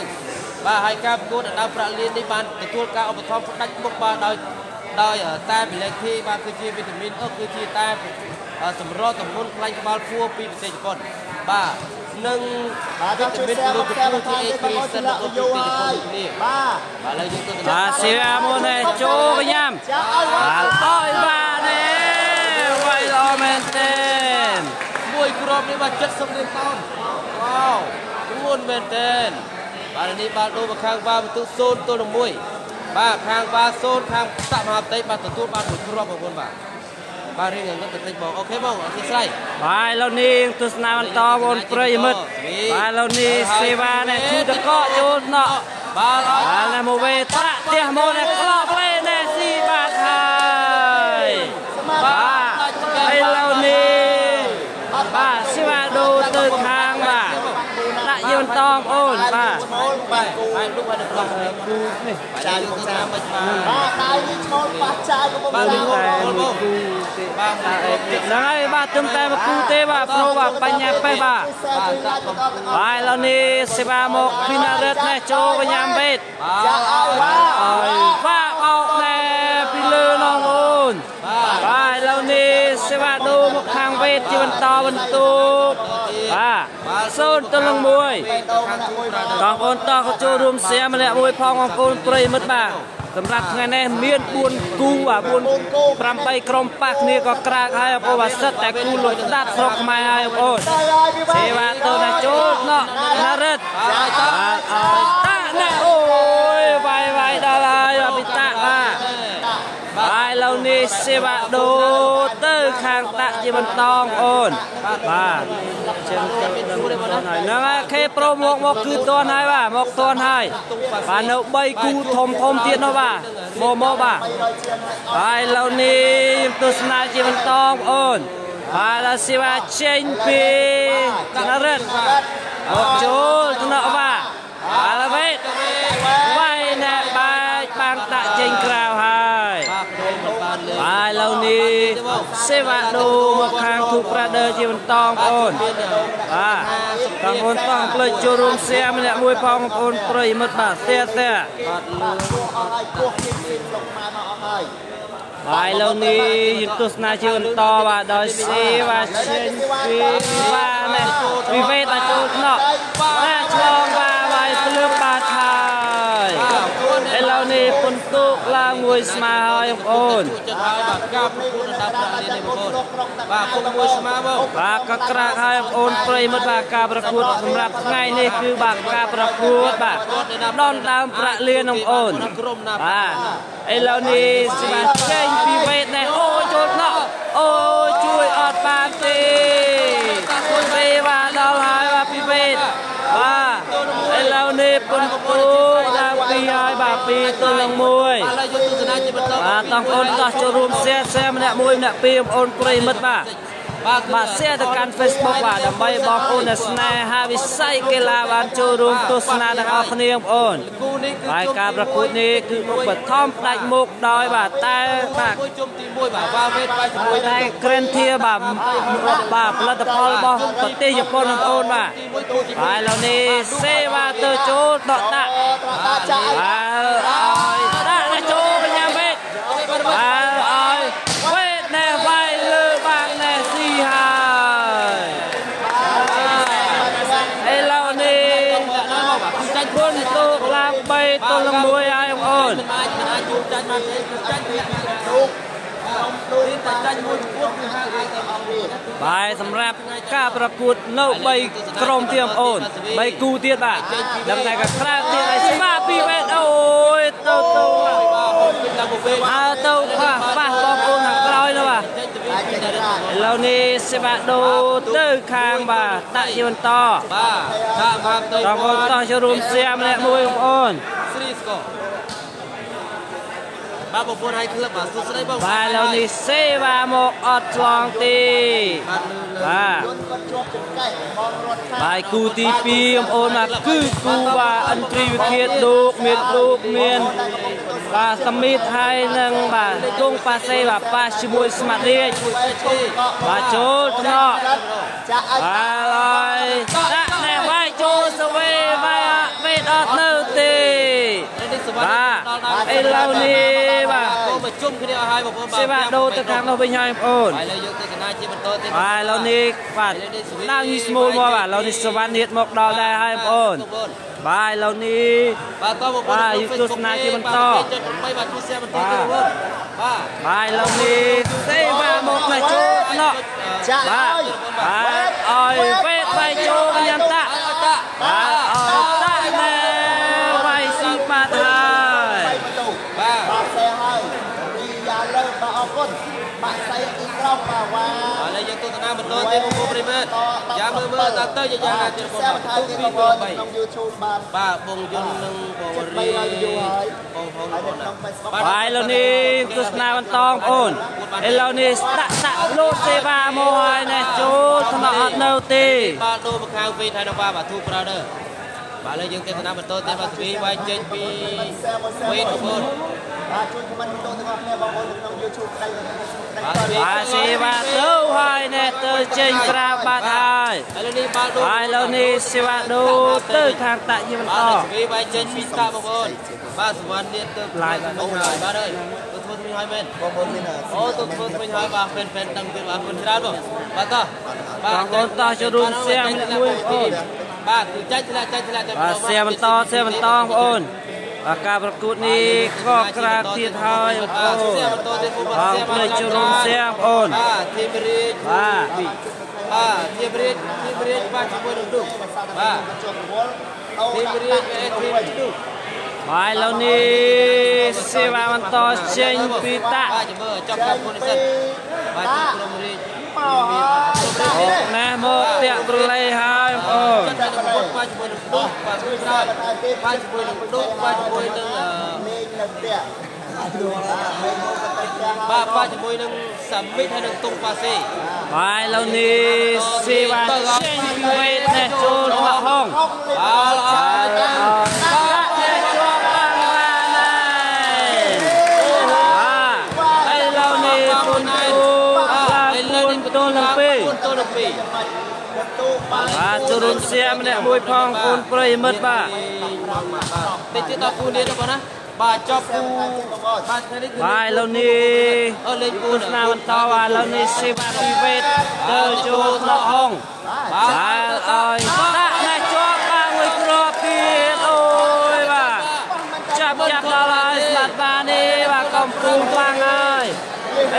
Speaker 1: បាទហើយការប្រកួតដណ្ដើមប្រាក់លាននេះបានទទួលការឧបត្ថម្ភផ្ដាច់មុខបាទដោយតែបលេធីបាទគឺជាវីតាមីនអឺគឺជាតែសម្រទម្ងន់ខ្លាញ់ក្បាលពួរពីប្រទេសជប៉ុនបាទនិង
Speaker 2: បាទ
Speaker 1: វីតា
Speaker 2: ជួយ
Speaker 1: មីន
Speaker 2: សែ
Speaker 1: ក្លូ
Speaker 2: មកសែ
Speaker 1: កូ
Speaker 2: បន្ថែម
Speaker 1: ជា
Speaker 2: ទៀតបងប្អូន
Speaker 1: គ្រីសិន
Speaker 2: ឆ្លាក់
Speaker 1: របស់
Speaker 2: យូ
Speaker 1: ប្រទេសជ
Speaker 2: ហើយ
Speaker 1: ប៉ុនគ្នា
Speaker 2: បាទ
Speaker 1: បាទឥឡូវយើងទស្សនា
Speaker 3: បាទសេវាមុននេះចូលកញ្ញាំ
Speaker 2: ចាឲ្យ
Speaker 3: បាទអើយបាទនេះវាយល្អមែនទេ
Speaker 1: មួយគ្រាប់នេះបាទ70លានតោនវ៉ាវធ្ងន់មែនទេបាទនេះបាល់ដូរមកខាងវ៉ាបន្ទុ0-1បាទខាងវ៉ា0ខាងតមហាផ្ទៃបាទទទួលបានមួយគ្រាប់បងប្អូនបាទបាទរៀងងឹតបន្តិចបងអូខេបងអធិស្ឋាន
Speaker 3: បាទឥឡូវនេះទស្សនាបន្តបងប្រិយមិត្តបាទឥឡូវនេះសេវានេះឈូតកកចូលណក់
Speaker 1: បាទ
Speaker 3: បាទនេះមកវេត្រាក់ផ្ទះមកនេះក្លោបលេនេះស៊ីបាទហើយបាទឥឡូវនេះបាទសេវាដូរទៅខាងបាទដាក់យើងបន្តបងប្អូនបាទ
Speaker 2: ឈ្មោលបាទគូ
Speaker 1: ហើយលោកបានប្រោះ
Speaker 3: គូនេះ
Speaker 2: ចាយកំសាបាទដៃនេះឈ្មោលប៉ះចាយកំពុង
Speaker 1: បាទ
Speaker 2: សា
Speaker 1: លោក
Speaker 3: តែ
Speaker 1: បង
Speaker 3: មួយគូទេ
Speaker 1: បាទ
Speaker 3: ហ្នឹងហើយបាទទឹមតែមួយគូទេបាទប្រូបាទបញ្ញាប៉េះបាទ
Speaker 2: ជួយសែជួយឡាយបន្តទាំងអស់
Speaker 3: បាទឥឡូវនេះសេវាមកពីណារិតនេះចូលកញ្ញាំវេត
Speaker 2: ចាឲ្យបាទ
Speaker 3: អើយបាទអោកណែពីលើនងអូនបាទឥឡូវនេះសេវាដូរមកខាងវេតជាបន្តបន្ទាប់បាទ0-1
Speaker 2: បេដូម្នាក់មួយបង
Speaker 3: បងប្អូនតោះក៏ចូលរួមសៀម្នាក់មួយផងបងប្អូនប្រិយមិត្តបាទសម្រាប់ថ្ងៃនេះមាន4គូបាទ4 8ក្រុមប៉ះគ្នាក៏ក្រាកហើយបងប្អូនបាទសិតតែគូលុយដាប់ស្រុកខ្មែរហើយបងប្អូន
Speaker 2: ទៅហើយពី
Speaker 3: សេវាទៅណាចូលណោះណារិត
Speaker 1: បាទត
Speaker 3: បាទអើយតាណាអូយវាយវាយដល់ហើយបាទពីតាបាទបាទឥឡូវនេះសេវាដូរទៅខាងតាក់ជាបន្តបងប្អូនបាទជិនទៅដល់ហើយហ្នឹងហើយខេប្រូមកមកគឺតនហើយបាទមកតនហើយបាទនៅ3គូធំធំទៀតនោះបាទមកមកបាទ
Speaker 2: 300ជាងហើយ
Speaker 3: បាទឥឡូវនេះទស្សនាជាបន្តបងប្អូនបាទដល់សេវាចេញពីណារិតមកចូលថ្នាក់បាទបាទវេតវាយណែបែកបាំងដាក់ចេញក្រៅហើយ
Speaker 1: បាទដូរមិនបានលើ
Speaker 3: បាទឥឡូវនេះសេវាដូរមកខាងធូប្រាដឺជាបន្តបងប្អូនបាទបងប្អូនតោះផ្លេចចូលរួមសៀម្នាក់មួយផងបងប្អូនប្រិយមិត្តបាទសៀសៀ
Speaker 1: បាទ
Speaker 2: បាទគោះអស់ហើយគោះគៀបគៀបលោកខ្មែរមកអស់ហើយ
Speaker 3: បាទឥឡូវនេះយើងទស្សនាជាបន្តបាទដោយសេវាចេញពីបាទនេះវិវេតដល់ចូលថ្នាក់បាទឆ្លងបាទវាយភ្លើងបាទហើយឥឡូវនេះពុនទូកឡើងមួយស្មើហើយបងប្អូន
Speaker 1: ចិត្តហើយបាទការប្រកួតដណ្ដើមប្រាក់លាននេះបងប្អូនបាទពុកមួយស្មើបង
Speaker 3: បាទក៏ក្រាកហើយបងប្អូនប្រិយមិត្តបាទការប្រកួតសម្រាប់ថ្ងៃនេះគឺបាទការប្រកួតបាទដនដើមប្រាក់លានបងប្អូន
Speaker 1: ក្រុមណា
Speaker 3: បាទឥឡូវនេះស្មាចេញពីវេតនេះអូយចូលថ្នាក់អូយជួយអត់បានទេសេវាដល់ហើយបាទពីវេតបាទឥឡូវនេះពុនពូដល់ពីហើយបាទ2-1
Speaker 1: បាទឥឡូវយើងទស្សនាជាបន្ត
Speaker 3: បាទតោះបងប្អូនតោះចូលរួម share share ម្នាក់មួយម្នាក់ពីរបងប្អូនប្រិយមិត្តបាទ
Speaker 1: បាទ
Speaker 3: បាទ share ទៅកាន់ Facebook បាទដើម្បីបងប្អូនដែលស្នេហាវិស័យកីឡាបានចូលរួមទស្សនាទាំងអស់គ្នាបងប្អូន
Speaker 1: គូនេះគឺ
Speaker 3: ហើយការប្រកួតនេះគឺឧបត្ថម្ភផ្ដាច់មុខដោយបាទតែបាទ
Speaker 1: មួយជុំទី1បាទវ៉ាវេតបាយជាមួយ
Speaker 3: តែក្រែនធាបាទបាទផលិតផលរបស់ប្រទេសជប៉ុនបងប្អូនបាទ
Speaker 1: ទី1គូទី
Speaker 3: ហើយឥឡូវនេះសេវាទៅចូលដកដាក់
Speaker 2: ត្រតាចាយ
Speaker 3: បាទឲ្យដាក់ណាចូលបញ្ញាវេតបាទឲ្យវេតណែវាយលើបាំងណែស៊ីហើយឥឡូវនេះ
Speaker 1: 1បាទគឺចាញ់
Speaker 3: គុណទូកឡើង3-1 ន
Speaker 1: មិនអាចជួបចាញ់បានទេចាញ់
Speaker 2: ទូកក្រុមទូក
Speaker 1: តែចាញ់មួយប្រកួតគឺហៅអាចទៅអង្គវា
Speaker 3: បាទសម្រាប់ការប្រកួតនៅ3ក្រុមទៀតបងប្អូន3គូទៀតបាទដឹងតែក៏ក្រើកទៀតឲ្យស្មាពីវេតអូយទៅទៅអើទៅខ្វះប៉ះបងប្អូនខាងក្រោយនោះបាទឥឡូវនេះសេបាដូទៅខាងបាទដាក់ជាបន្ត
Speaker 1: បាទបាទទៅ
Speaker 3: បងប្អូនតោះចូលរួមសៀមម្នាក់មួយបងប្អូន
Speaker 1: ស្រីស្កបាទបងប្អូនហើយក្លឹបបាទសួស្តីបង
Speaker 3: បាទឥឡូវនេះសេវាមកអត់ឆ្លងទេបាទ
Speaker 2: គាត់ជាប់ចង្កេះបងរត់ខា
Speaker 3: បាទគូទី2បងប្អូនបាទគឺគូបាទឥន្ទ្រីវិធាលោកមានលោកមានបាទសមីតហើយនឹងបាទគង់ប៉ាសេបាទប៉ាជាមួយស្មាត់រាជបាទចូលថ្នាក់
Speaker 2: ចាក់ឲ្យ
Speaker 3: បាទហើយដាក់ណែវាយចូលសវេវាយវេតអត់នៅទេបាទឥឡូវនេះបាទ
Speaker 1: កូនមកជុំគ្នាឲ្យហើយបងប្អូន
Speaker 3: សេវាដូរទៅខាងនោះវិញហើយបងប្អូន
Speaker 1: ហើយឥឡូវយើងទស្សនាជាបន្តទៀត
Speaker 3: បាទឥឡូវនេះបាទឡើងយីស្មូលមកបាទឥឡូវនេះសវណ្ណនេះមកដល់ដែរហើយបងប្អូនបាទឥឡូវនេះ
Speaker 1: បាទតបងប្អូន
Speaker 3: បាទយើងទស្សនាជាបន្ត
Speaker 1: ចុច8បាទជួយ share បន្តទៀតបងប្អូនបាទ
Speaker 3: បាទឥឡូវនេះសេវាមកផ្នែកចូលណោះ
Speaker 2: ចាក់
Speaker 3: បាទ
Speaker 2: ឲ្យ
Speaker 3: បាទឲ្យវេតបៃចូលកញ្ញាតា
Speaker 1: ឲ្យតា
Speaker 3: បាទឲ្យតាណែវាយស៊ីបាត់ហើយ
Speaker 2: បន្ទូ
Speaker 1: បាទ
Speaker 2: បាទសេហើយរីយ៉ាលើបាទអរគុណបាក់សៃទីក្រោមបាទវ៉ា
Speaker 1: ឥឡូវយើងទស្សនាបន្តទៀតបងប្អូនប្រិយមិត្តយ៉ាងមើលមើលតទៅយ៉ាងណាទៀតបង
Speaker 2: សែ
Speaker 1: ប្អូន
Speaker 2: បន្ថែមទៀតបងប្អូនក្នុង YouTube បាន
Speaker 1: បាទបងយុននិងបងរីបងហង
Speaker 2: ហើយ
Speaker 1: បងណា
Speaker 2: នៅក្នុង Facebook
Speaker 3: បាទឥឡូវនេះទស្សនាបន្តបងប្អូនឥឡូវនេះដាក់ដាក់លោតសេវាមកហើយណែចូលថ្នាក់អត់នៅទេ
Speaker 1: បាទដូរមកខាងវិញហើយដល់បាទធូ brother បាទឥឡូវយើងទស្សនាបន្តទៀតបាទស្វីវាយចេញពីវិញបងប្អូន
Speaker 2: បាទជួយ comment វីដេអូទាំងអស់គ្នាបងប្អូននៅក្នុង YouTube ក្តីនៅក្នុង Facebook ក្តីបាទ
Speaker 3: បាទសេវាទៅហើយណែទៅចេញក្រៅបាត់ហើយ
Speaker 1: ឥឡូវនេះបាទដូរ
Speaker 3: ហើយឥឡូវនេះសេវាដូរទៅខាងតាក់ជាបន្ត
Speaker 1: បាទស្វីវាយចេញពីតាបងប្អូនបាទសវណ្ណនេះទៅ
Speaker 3: ឡាយបាទ
Speaker 1: ហើយបាទអើយទៅធ្វើថ្មីហើយមែន
Speaker 2: បងប្អូនមាន
Speaker 1: អូទៅធ្វើថ្មីហើយបាទហ្វេនហ្វេនដឹងទៀតបាទគុណច្រើនបងបាទតោះបាទ
Speaker 3: បងប្អូនតោះចូលរួមសៀមម្នាក់មួយបងប្អូន
Speaker 1: បាទគឺចាច់ធ្លាក់ចាច់ធ្លាក់តែ
Speaker 3: បាទសៀមបន្តសៀមបន្តបងប្អូនបាទការប្រកួតនេះក៏ក្រាកទៀតហើយបងប្អូន
Speaker 1: សៀមបន្តទៀតបង
Speaker 3: បងប្អូនចូលរួមសៀមបងប្អូន
Speaker 1: បាទធីមរាជ
Speaker 3: បាទ
Speaker 1: បាទធីមរាជធីមរាជបាទជាមួយនឹងឌុកបាទ
Speaker 2: ជាប់រវល់អូ
Speaker 1: ធីមរាជអេធីមឌុក
Speaker 3: បាទឥឡូវនេះសេវាបន្តចេញពីតាក់
Speaker 1: បាទចាំមើលចប់តាមគុណសិនបាទជួបក្រុមរាជ
Speaker 2: មកហើយ
Speaker 3: ណែមកតាក់ប្រឡេហើយបងប្អូន
Speaker 1: ចិត្តតែពុតបាទជាមួយនឹងឌុកបាទជួយក្រោយបាទជាមួយនឹងឌុកបាទជាមួយនឹង
Speaker 2: លេងនៅផ្ទះបាទលេងមកទៅផ្ទះ
Speaker 1: បាទបាទជាមួយនឹងសាមិតហើយនឹងតុងប៉ាសេ
Speaker 3: បាទឥឡូវនេះសេវាចេញពីវេតនេះចូលមកហង
Speaker 1: បាទល្អ
Speaker 3: បាទដាក់នេះជាប់បានបានហើយបាទឥឡូវនេះពុនទូឡើង4ទល់នឹង2
Speaker 1: 4ទល់នឹង2
Speaker 2: បន្ទូបាន
Speaker 3: បាទចូលរួមសៀម្នាក់មួយផងបងប្រិយមិត្តបាទ
Speaker 1: តិចទៀតដល់គូនេះទៅបងណាបាទចប់គូបាទថ្ងៃនេះគឺ
Speaker 3: បាទឥឡូវនេះ
Speaker 1: អឺលេខ
Speaker 3: ទស្សនាបន្តបាទឥឡូវនេះសេវាពីវេតទៅចូលថ្នាក់ហងបាទឲ្យដាក់ណែជាប់បាទមួយគ្រាប់ទៀតអូយបាទចាប់ចាប់ដល់ហើយស្មាត់បាទនេះបាទកំពូលខ្លាំងហើយ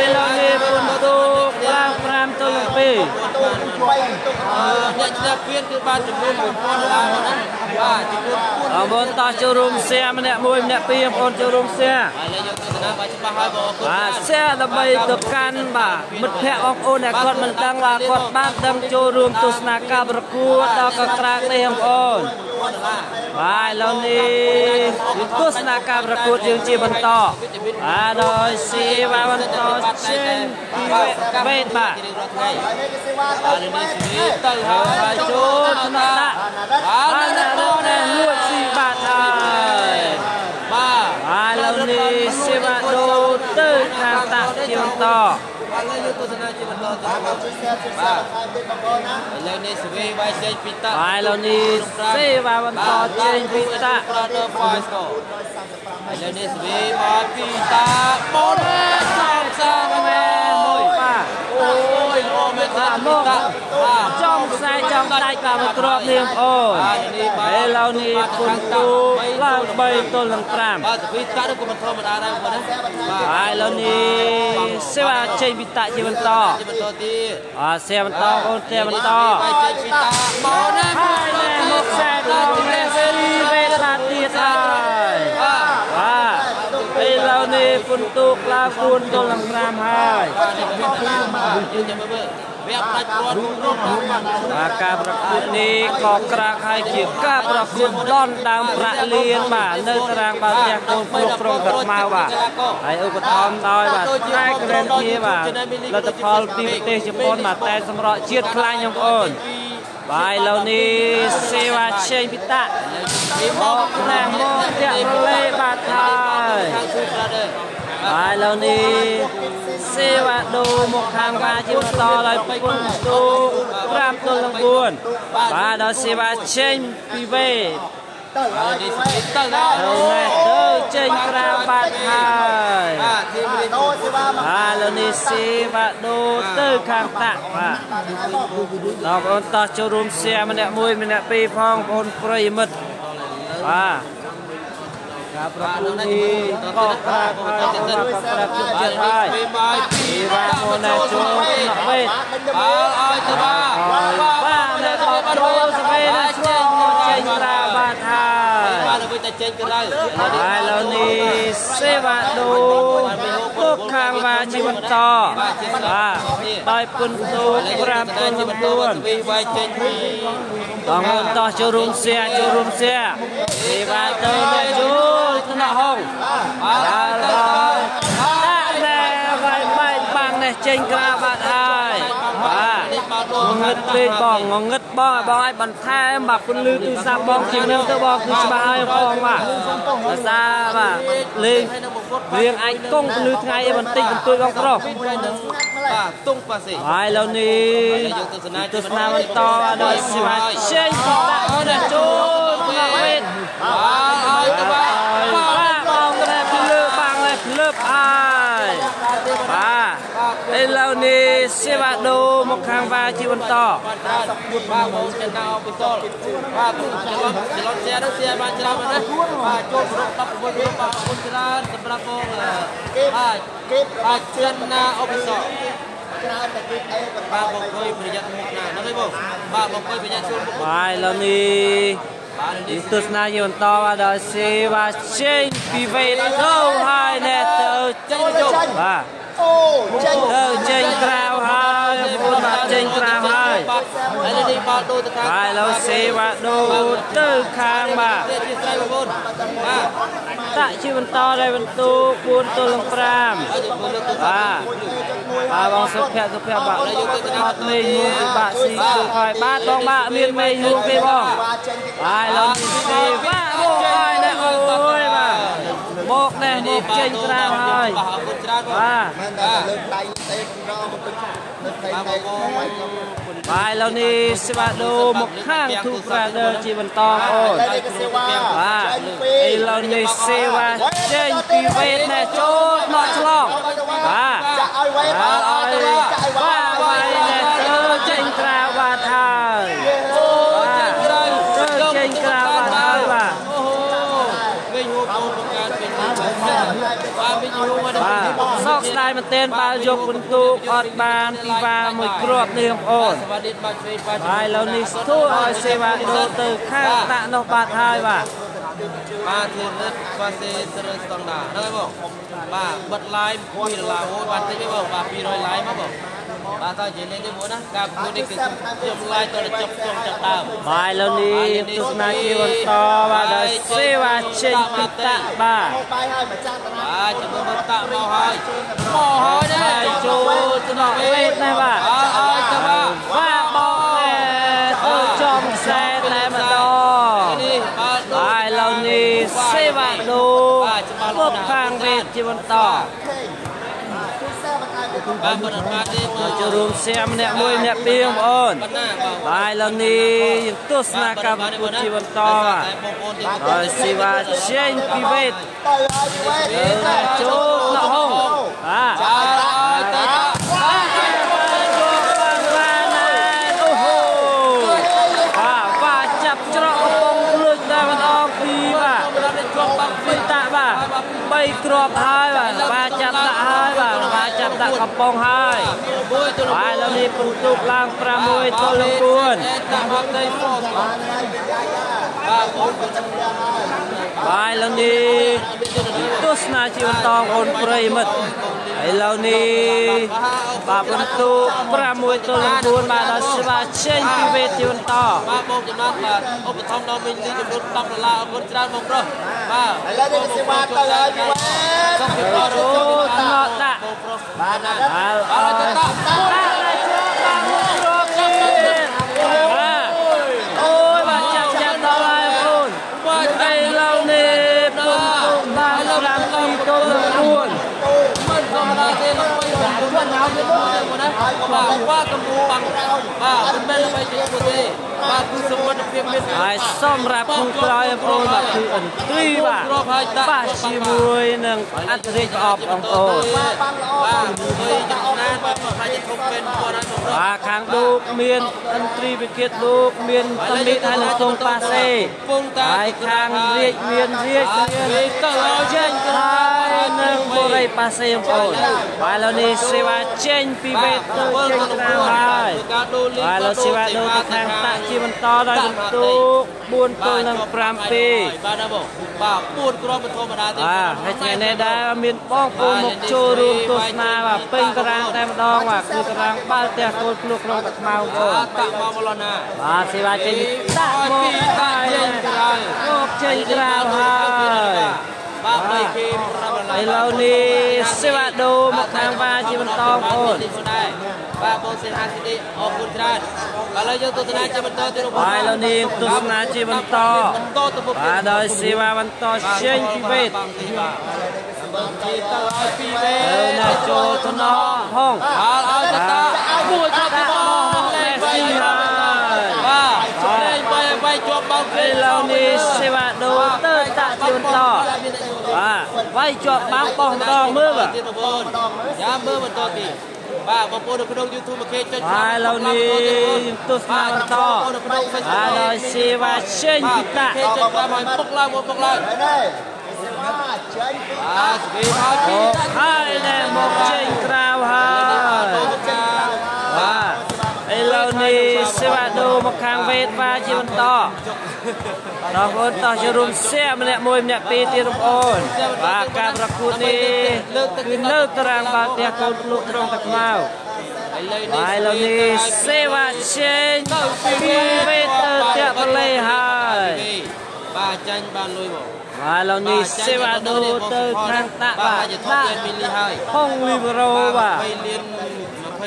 Speaker 3: ឥឡូវនេះពុនទូឡើង5ទល់នឹង2
Speaker 2: ទូបីទូ
Speaker 1: អ្នកឈ្នះពានគឺបានចំនួន1000ដុល្លារណាបាទចំនួន4
Speaker 3: បងប្អូនតោះចូលរួមសៀម្នាក់មួយម្នាក់ពីរបងប្អូនចូលរួមសៀ
Speaker 1: ហើយឥឡូវយើងទស្សនាបាទច្បាស់ហើយបងអរគុណ
Speaker 3: បាទសៀដើម្បីទៅកាន់បាទមិត្តភ័ក្តិបងប្អូនដែលគាត់មិនដឹងបាទគាត់បានដឹងចូលរួមទស្សនាការប្រកួតដល់កក្រាកនេះបងប្អូនបាទឥឡូវនេះទស្សនាការប្រកួតយើងជាបន្តបាទដោយសេវាបន្តចេញពីវេតបាទ
Speaker 1: ជារៀងរាល់ថ្ងៃ
Speaker 2: ហើយនេះគឺសេវា
Speaker 1: បាទនេះស្វីទៅហើយ
Speaker 3: ហើយចូលថ្នាក់ដាក់
Speaker 1: បាទ
Speaker 3: បាទណារណែលួចស៊ីបាត់ហើយ
Speaker 1: បាទ
Speaker 3: បាទឥឡូវនេះសេវាដូរទៅខាងតាក់ជាបន្ត
Speaker 1: បាទឥឡូវយើងទស្សនាជាបន្តទៅ
Speaker 2: បាទជួយ share ជួយ share បន្ថែមទៀតបងប្អូនណា
Speaker 1: ឥឡូវនេះស្វីវាយចេញពីតា
Speaker 3: បាទឥឡូវនេះសេវាបន្តចេញពីតាក់
Speaker 1: Brother Five Score ឥឡូវនេះស្វីមកពីតាបូនសំសា
Speaker 3: មែនមួយបាទ
Speaker 1: អូយល្អមែន
Speaker 3: បាទមក
Speaker 1: តាបាទ
Speaker 3: ចំខ្សែចំ ង់ដាច់បាទមួយគ្រាប់នេះបងប្អូនឥឡូវនេះពុនទូឡើង3ទល់នឹង5
Speaker 1: បាទសវីតាក់ក៏មិនធម្មតាដែរបងប្អូនណា
Speaker 3: បាទឥឡូវនេះសេវាចេញពីតាក់ជាបន្ត
Speaker 1: ជាបន្តទៀត
Speaker 3: បាទសេវាបន្តបងទេបន្ត
Speaker 1: ចេញពីតាមកណា
Speaker 3: មកខ្សែដល់នេះស៊ីវេតាទៀតហើយបាទឥឡូវនេះពុនទូកឡើង4ទល់នឹង5ហើយ
Speaker 1: យើងចាំមើលវគ្គផ្ដាច់ព្រាត់គ្រប់
Speaker 3: បាទការប្រកួតនេះក៏ក្រាក់ហើយជាការប្រកួតដនដើមប្រាក់លៀនបាទនៅតារាងបាល់ទះកូនគ្រប់ក្រុងតាខ្មៅបាទហើយឧបត្ថម្ភដោយបាទតែក្រែនធាបាទលទ្ធផលពីប្រទេសជប៉ុនបាទតែសម្រក់ជាតិខ្លាញ់បងប្អូនបាទឥឡូវនេះសេវាឆេងពិតាមកណាស់មកតាក់រលេបាទហើយបាទឥឡូវនេះសេវាដូមកខាងបាជាបន្តដោយពុនទូ5ទល់នឹង4បាទដល់សេវាចេញពីវេ
Speaker 2: ទៅហើយ
Speaker 1: ទៅ
Speaker 3: ទៅទៅចេញក្រៅបាត់ហើយ
Speaker 1: បាទធីម
Speaker 2: ដូសេវាមក
Speaker 3: បាទឥឡូវនេះសេវាដូទៅខាងតាក់បាទដល់បងប្អូនតោះចូលរួមសៀម្នាក់មួយម្នាក់ពីរផងបងប្អូនប្រិយមិត្តបាទការប្រកួតនេះក៏ក្រាក់ហើយក្រាក់ជចិត្តហើយពីបាមកណាចូលមកវេ
Speaker 1: បាទឲ្យទៅបាទ
Speaker 3: បាទអ្នកបបចូលសវេណាឆ្លងចេញក្រៅបាទហើយ
Speaker 1: បាទអ្វីតែចេញក្រៅ
Speaker 3: ហើយឥឡូវនេះសេវាដូពុកខាងបាជាបន្តបាទដោយពុនទូ5ទល់នឹង4
Speaker 1: វីវាយចេញពី
Speaker 3: បងប្អូនតោះចូលរួមសៀចូលរួមសៀសេវាទៅអ្នកចូលថ្នាក់ហងបាទដល់ដាក់ណែវាយបែកបាំងនេះចេញក្រៅបាត់ហើយបាទងងឹតពេកបងងងឹតបងឲ្យបងឲ្យបន្ថែមបាទពន្លឺទូរស័ព្ទបងជាងនឹងទៅបងគឺច្បាស់ហើយបងបាទភាសាបាទលេងរៀងអាចកង់ពន្លឺថ្ងៃឲ្យបន្តិចបន្តួចបងប្រុស
Speaker 1: បាទតុងប៉ាសេ
Speaker 3: ហើយឥឡូវនេះទស្សនាបន្តដល់សេវាចេញពីដាក់នេះចូលមកវេទ
Speaker 1: បាទឲ្យទៅបាទ
Speaker 3: បាទបងតែភ្លើបាំងនេះភ្លើហើយបាទឥឡូវនេះសេវាដូមកខាងវ៉ាជាបន្ត
Speaker 1: បាទបងចិនណាអពិសលបាទច្រឡំច្រឡំសៀនោះសៀបានច្រើនណាស់បាទចូលប្រក16រូបបាទអរគុណច្រើនសម្រាប់បងបាទ
Speaker 2: គេ
Speaker 1: បាទចិនណាអពិសល
Speaker 2: ច្រើនតែគេអេបន្ត
Speaker 1: បាទបងអង្គុយប្រយ័ត្នមុខណាហ្នឹងហើយបងបាទបងអង្គុយប្រយ័ត្នជួលមុខ
Speaker 3: បាទឥឡូវនេះ
Speaker 1: បាទនេះ
Speaker 3: ទស្សនាជាបន្តបាទដល់សេវាចេញពីវេទទៅហើយណែទៅ
Speaker 1: ចេញចូល
Speaker 3: បាទ
Speaker 2: អូចេញ
Speaker 3: ទៅចេញក្រៅហើយបងប្អូនបាទចេញក្រៅហើយ
Speaker 1: ហើយនេះបាល់ដូរទៅខាង
Speaker 3: បាទឥឡូវសេវាដូរទៅខាងបាទ
Speaker 1: ជាស្រ័យបងប្អូនបាទ
Speaker 3: តាក់ជាបន្តដោយបន្ទូ4ទល់នឹង5បាទបាទបងសុភ័ក្រសុភ័ក្របាទអត់មេងួងពិបាកស៊ីគឺហើយបាទបងបាទមានមេងួងទេបងបាទឥឡូវនេះសេវាមកហើយណែអូយបាទមកណែមកចេញក្រៅហើយ
Speaker 1: បាទអរគុណច្រើនបង
Speaker 3: បាទ
Speaker 2: មិនតែលើកដៃទេកម្រមកពេញនៅផ្ទៃដៃវាយខ្ញុំ
Speaker 3: បាទឥឡូវនេះសេវាដូមកខាងទូប្រាដឺជាបន្តអូន
Speaker 2: តែនេះក៏សេវា
Speaker 3: បាទ
Speaker 2: ចេញពី
Speaker 3: ឥឡូវនេះសេវាចេញពីវេទណែចូលដកឆ្លងបាទ
Speaker 2: ចាក់ឲ្យវេ
Speaker 3: បាទឲ្យ
Speaker 2: ចាក់ឲ្យវេ
Speaker 3: បាទវាយណែទៅចេញក្រៅបាទហើយ
Speaker 1: ចេញក្រៅ
Speaker 3: ទៅចេញក្រៅបាទហើយបាទ
Speaker 1: អូហូវិញហូបងបង្កើតវិញបាទវិញហូមក
Speaker 3: បាទសោកស្ដាយមែនទែនបើយកពិន្ទុអត់បានពីវ៉ាមួយគ្រាប់នេះបងប្អូន
Speaker 1: សវណ្ណបាទឆ្វេងបាទ
Speaker 3: ហើយឥឡូវនេះស្ទួឲ្យសេវាដូរទៅខាងតាក់នោះបាទហើយបាទ
Speaker 1: បាទធារិតបាទសេស្រើស្តង់ដាហ្នឹងហើយបងបាទបិទ live 2ដុល្លារអូបាទតិចទេបងបាទ200 live មកបងបាទតើនិយាយលេងទេបងណាការប្រកួតនេះគឺខ្ញុំ live តទៅចប់ចុងចាប់ដើម
Speaker 3: បាទឥឡូវនេះទស្សនាជាបន្តបាទដល់សេវាចេញពីតាក់បាទ
Speaker 2: មកបាយហើយម្ចាស់តារា
Speaker 1: បាទជំនួសតាក់មកហើយមកហើយណា
Speaker 3: ហើយចូលស្នក់វេទណាបាទ
Speaker 1: អើឲ្យទៅបាទ
Speaker 3: បាទបងណែទៅចំខ្សែតែម្ដង
Speaker 1: នេះបាទ
Speaker 3: បាទឥឡូវនេះសេវាដូពុកខាងវេទជាបន្ត
Speaker 2: ខេងជួយសែបន្ថែមទៀត
Speaker 1: បាទមិនអត់បានទេបង
Speaker 3: ចូលរួមសៀមម្នាក់មួយម្នាក់ពីរបងប្អូន
Speaker 1: ប៉ុណ្ណាបាទ
Speaker 3: បាទឥឡូវនេះយើងទស្សនាការប្រកួតជាបន្តបាទ
Speaker 1: តែបងប្អូនទាំង
Speaker 3: ហើយសេវាចេញពីវេទ
Speaker 2: ទៅឲ្យវេ
Speaker 3: ទៅចូលណហងបាទ
Speaker 1: ចាឲ្យទៅ
Speaker 3: បាទចូលបានបានអូហូ 3គ្រាប់ហើយបាទបាទចាប់ដាក់ហើយបាទបាទចាប់ដាក់កំប៉ុងហើយបាទឥឡូវនេះពិន្ទុឡើង6ទល់នឹង4
Speaker 1: ដាក់មកដីហ្វ
Speaker 2: បានហើយយ៉ាយ៉ា
Speaker 1: បាទបង
Speaker 3: បាទឥឡូវនេះទស្សនាជាបន្តបងប្រិយមិត្តឥឡូវនេះបាទពិន្ទុ6ទល់នឹង4បាទដល់ស្វាចេញពីវេទិបន្ត
Speaker 1: បាទបងចំណានបាទឧបត្ថម្ភដល់មីលីចំនួន10ដុល្លារអរគុណច្រើនបងប្រុសបាទ
Speaker 2: ឥឡូវនេះសេវាទៅហើយពីវេ
Speaker 1: សុខភាព
Speaker 3: អូថ្នក់ដាក់
Speaker 1: បងប្រុស
Speaker 2: បាទណា
Speaker 3: បាទអរទៅដាក់ដាក់ជាប់បាទមួយគ្រាប់ទៀតបាទអូយបាទចាប់ចាប់ដល់ហើយបងប្អូនឥឡូវនេះពិន្ទុបាន7ទល់នឹង4
Speaker 1: មិនធម្មតាទេល្បីបងណាបាទបាទកំពុងបាំងបាទមិនមែនល្បីជាងទេបាទគឺសមត្ថភាពមាន
Speaker 3: ហើយសម្រាប់គូក្រោយបងប្អូនបាទគឺអន្ត្រីបាទបាទជាមួយនឹងអន្តរិទ្ធប្រអប់បងប្អូន
Speaker 1: បាទបាទជួយចំណានបាទខ្លាចធំពេលគាត់ហើយបងប្រុស
Speaker 3: បាទខាងឌូកមានអន្ត្រីវិគិតឌូកមានសមិទ្ធហើយនឹងសុងប៉ាសេ
Speaker 1: ពងតា
Speaker 3: ហើយខាងរាជមានរាជមាន
Speaker 1: ទៅឲ្យ
Speaker 3: ចេញហើយនឹងបូរីប៉ាសេបងប្អូនបាទឥឡូវនេះសេវាចេញពីវេទទៅចេញក្រៅហើយ
Speaker 1: ការដូរលី
Speaker 3: បាទឥឡូវសេវាដូរទៅខាងតាក់ជាបន្តដោយបន្ទុក4ទល់នឹង7
Speaker 1: បាទណាបងបាទ4គ្រាប់មិនធម្មតាទេ
Speaker 3: បាទហើយថ្ងៃនេះដែរមានបងប្អូនមកចូលរួមទស្សនាបាទពេញតារាងតែម្ដងបាទគឺតារាងបាល់ទះគោលភ្លុកក្នុងតាខ្មៅបងប្អូន
Speaker 1: តាក់មកមលណា
Speaker 3: បាទសេវាចេញតាក់មក
Speaker 1: តាក់ចេញក្រៅ
Speaker 3: មកចេញក្រៅហើយ
Speaker 1: បាទ3គេ5ដុល្លារ
Speaker 3: ឥឡូវនេះសេវាដូរមកខាងវ៉ាជាបន្តបងប្អូន
Speaker 1: បាទបងសេហាស៊ីឌីអរគុណច្រើនឥឡូវយើងទស្សនាជាបន្តទៀតបង
Speaker 3: បាទឥឡូវនេះទស្សនាជាបន្ត
Speaker 1: បន្តទៅមុខ
Speaker 3: បាទដោយសេវាបន្តចេញពីវេទ
Speaker 1: បាទជាទៅឲ្យពីវេ
Speaker 3: ទៅណាចូលថ្នហង
Speaker 1: បាទឲ្យតាមួយគ្រាប់ទៀតបងលេខ
Speaker 3: ស៊ីហើយ
Speaker 1: បាទលេខបីបីជាប់បោក
Speaker 3: ឥឡូវនេះសេវាដូរទៅតាក់ជាបន្តបាទវាយជាប់បាំងបោះម្ដងមើលបាទ
Speaker 1: ទៀតបងប្អូនយ៉ាមើលបន្តទៀតបាទបងប្អូននៅក្នុង YouTube មកគេចុច
Speaker 3: បាទឥឡូវនេះទស្សនាបន្ត
Speaker 1: នៅក្នុង Facebook
Speaker 3: បាទដោយសេវាចេញពីតាក់
Speaker 1: គេចុចតាមឲ្យពុកឡើងមកពុកឡើង
Speaker 2: ហើយនេះសេវាចេញពី
Speaker 1: បាទស្វីឲ្យពី
Speaker 3: អូហើយណែមកចេញក្រៅហើយបាទឥឡូវនេះសេវាដូរមកខាងវេទវ៉ាជាបន្តដល់បងប្អូនតោះចូលរួមសែម្នាក់មួយម្នាក់ពីរទៀតបងប្អូនបាទការប្រកួតនេះគឺនៅតារាងបាល់ទះកូនភ្លុកក្រុងតាខ្មៅ
Speaker 1: ឥឡូវនេះ
Speaker 3: ហើយឥឡូវនេះសេវាចេញពីវេទទៅផ្ទះបលេហើយ
Speaker 1: បាទចាញ់បានលុយមក
Speaker 3: បាទឥឡូវនេះសេវាដូរទៅខាងតាក់
Speaker 1: បា
Speaker 3: បាទ
Speaker 1: ទជាថប់លានមីលីហើយ
Speaker 3: ហុងលីបរ៉ូបាទ
Speaker 1: 20លាន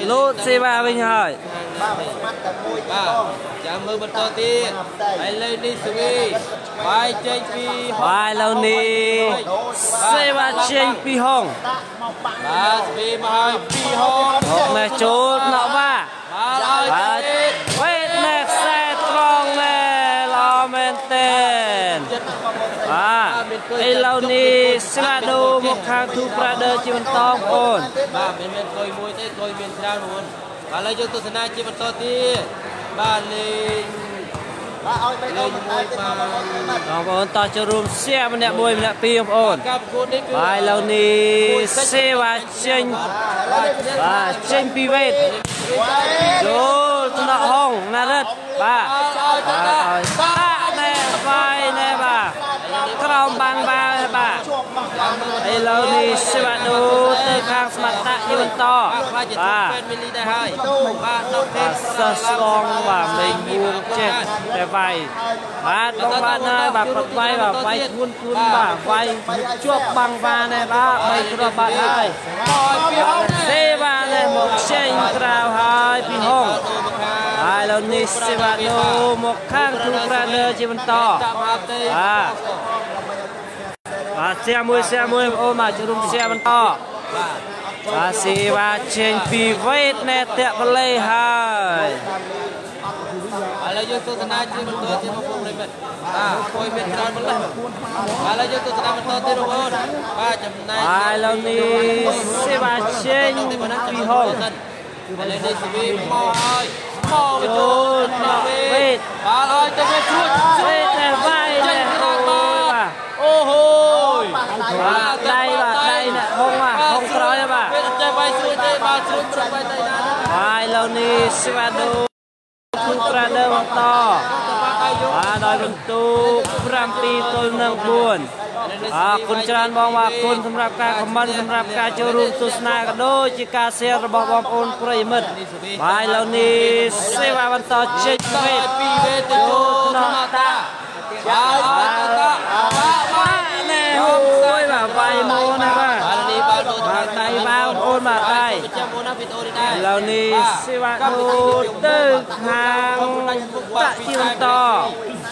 Speaker 1: 20
Speaker 3: លោតសេវាវិញហើយ
Speaker 2: បាទស្មាត់តែមួយទេ
Speaker 1: បាទ
Speaker 2: បង
Speaker 1: ចាំមើលបន្តទៀតឥឡូវនេះស្វីបាយចេញពី
Speaker 3: បាទឥឡូវនេះសេវាចេញពីហុង
Speaker 2: ដាក់មកបាំង
Speaker 1: បាទស្វីមកហើយពីហង
Speaker 3: មកនេះចូលណក់វ៉ា
Speaker 1: បាទឲ្យ
Speaker 3: បាទ
Speaker 1: ទៀត
Speaker 3: វេទនេះខ្សែត្រង់ណែល្អមែនទែនបាទឥឡូវនេះសេវាដូរមកខាងទូប្រាដឺជាបន្តបងប្អូន
Speaker 1: បាទមិនមែនកុយមួយទេកុយមានច្រើនបងប្អូនបាទឥឡូវយើងទស្សនាជាបន្តទៀតបាទលេង
Speaker 2: បាទឲ្យបេះដូងបន្ថែមទៀតមកបងប្អូនបាទ
Speaker 3: បងប្អូនតោះចូលរួមសែម្នាក់មួយម្នាក់ពីរបងប្អូន
Speaker 1: ការប្រកួតនេះគឺ
Speaker 3: បាទឥឡូវនេះសេវាចេញ
Speaker 2: ឥឡូវនេះ
Speaker 3: បាទចេញពីវេទចូលថ្នាក់ហងណារិទ្ធបាទ
Speaker 1: ឲ្យទៅ
Speaker 3: បាទឲ្យបាក់ណែបាយណែបាទក្រោមបាំងបាទបាទ
Speaker 2: ជាប់មកបាន
Speaker 3: ឥឡូវនេះសេវាដូទៅខាងសមត្ថៈជាបន្ត
Speaker 1: បាទខ្លាចជា
Speaker 3: បាទ
Speaker 1: ពេនមីលីដែរហើយបាទ10
Speaker 3: បាទសិស្សស្លងបាទមេងមួងចេះតែវាយបាទបងបាទហើយបាទគាត់វាយបាទវាយធ្ងន់ធ្ងន់បាទវាយជាប់បាំងវ៉ាណែបាទបីគ្រាប់បាទហើយសេវានេះមកចេញក្រៅហើយពីហងហើយឥឡូវនេះសេវាដូមកខាងគ្រូប្រាដឺជាបន្ត
Speaker 1: តាមហាទេ
Speaker 3: បាទបាទសៀមួយសៀមួយបងប្អូនបាទចូលរួមសៀបន្តបាទសេវាចេញពីវេទណែតបលេហើយ
Speaker 1: ឥឡូវយើងទស្សនាជាបន្តទៀតបងប្អូនប្រិយមិត្តបាទគួយមានច្រើនម្ល៉េះបាទឥឡូវយើងទស្សនាបន្តទៀតបងប្អូនបាទចំណែក
Speaker 3: បាទឥឡូវនេះសេវាចេញពីហង
Speaker 1: ឥឡូវនេះសេវីមកហើយមក
Speaker 3: ចូល
Speaker 1: ចូល
Speaker 3: ថ្នាក់វេទ
Speaker 1: បាទឲ្យទៅវាស្រួច
Speaker 3: វេទណែវាយ
Speaker 1: ចេ
Speaker 3: ណែ
Speaker 1: ញក្រៅ
Speaker 3: អូ
Speaker 1: បាទ
Speaker 3: យបាទ
Speaker 1: អូហូយ
Speaker 3: បាទដៃ ហើយឥឡូវនេះសេវាដូទូប្រាដឺបន្តបាទដោយបន្ទូ7-4អរគុណច្រើនបងអរគុណសម្រាប់ការខមមិនសម្រាប់ការចូលរួមទស្សនាក៏ដូចជាការ share របស់បងប្អូនប្រិយមិត្តបាទឥឡូវនេះសេវាបន្តចេញវេទ
Speaker 1: ពីវេទទៅចូលថ្មតាបាទតា
Speaker 3: បាទណែអូយបាទវាយមកណាបាទ
Speaker 1: បាទនេះបាទដូច
Speaker 3: បាទដៃបាទបងប្អូនបាទដៃ
Speaker 1: ចាំបងណាវីដេអូនេះដែរ
Speaker 3: ឥឡូវនេះសេវាដូទៅខាងតាក់ជាបន្ត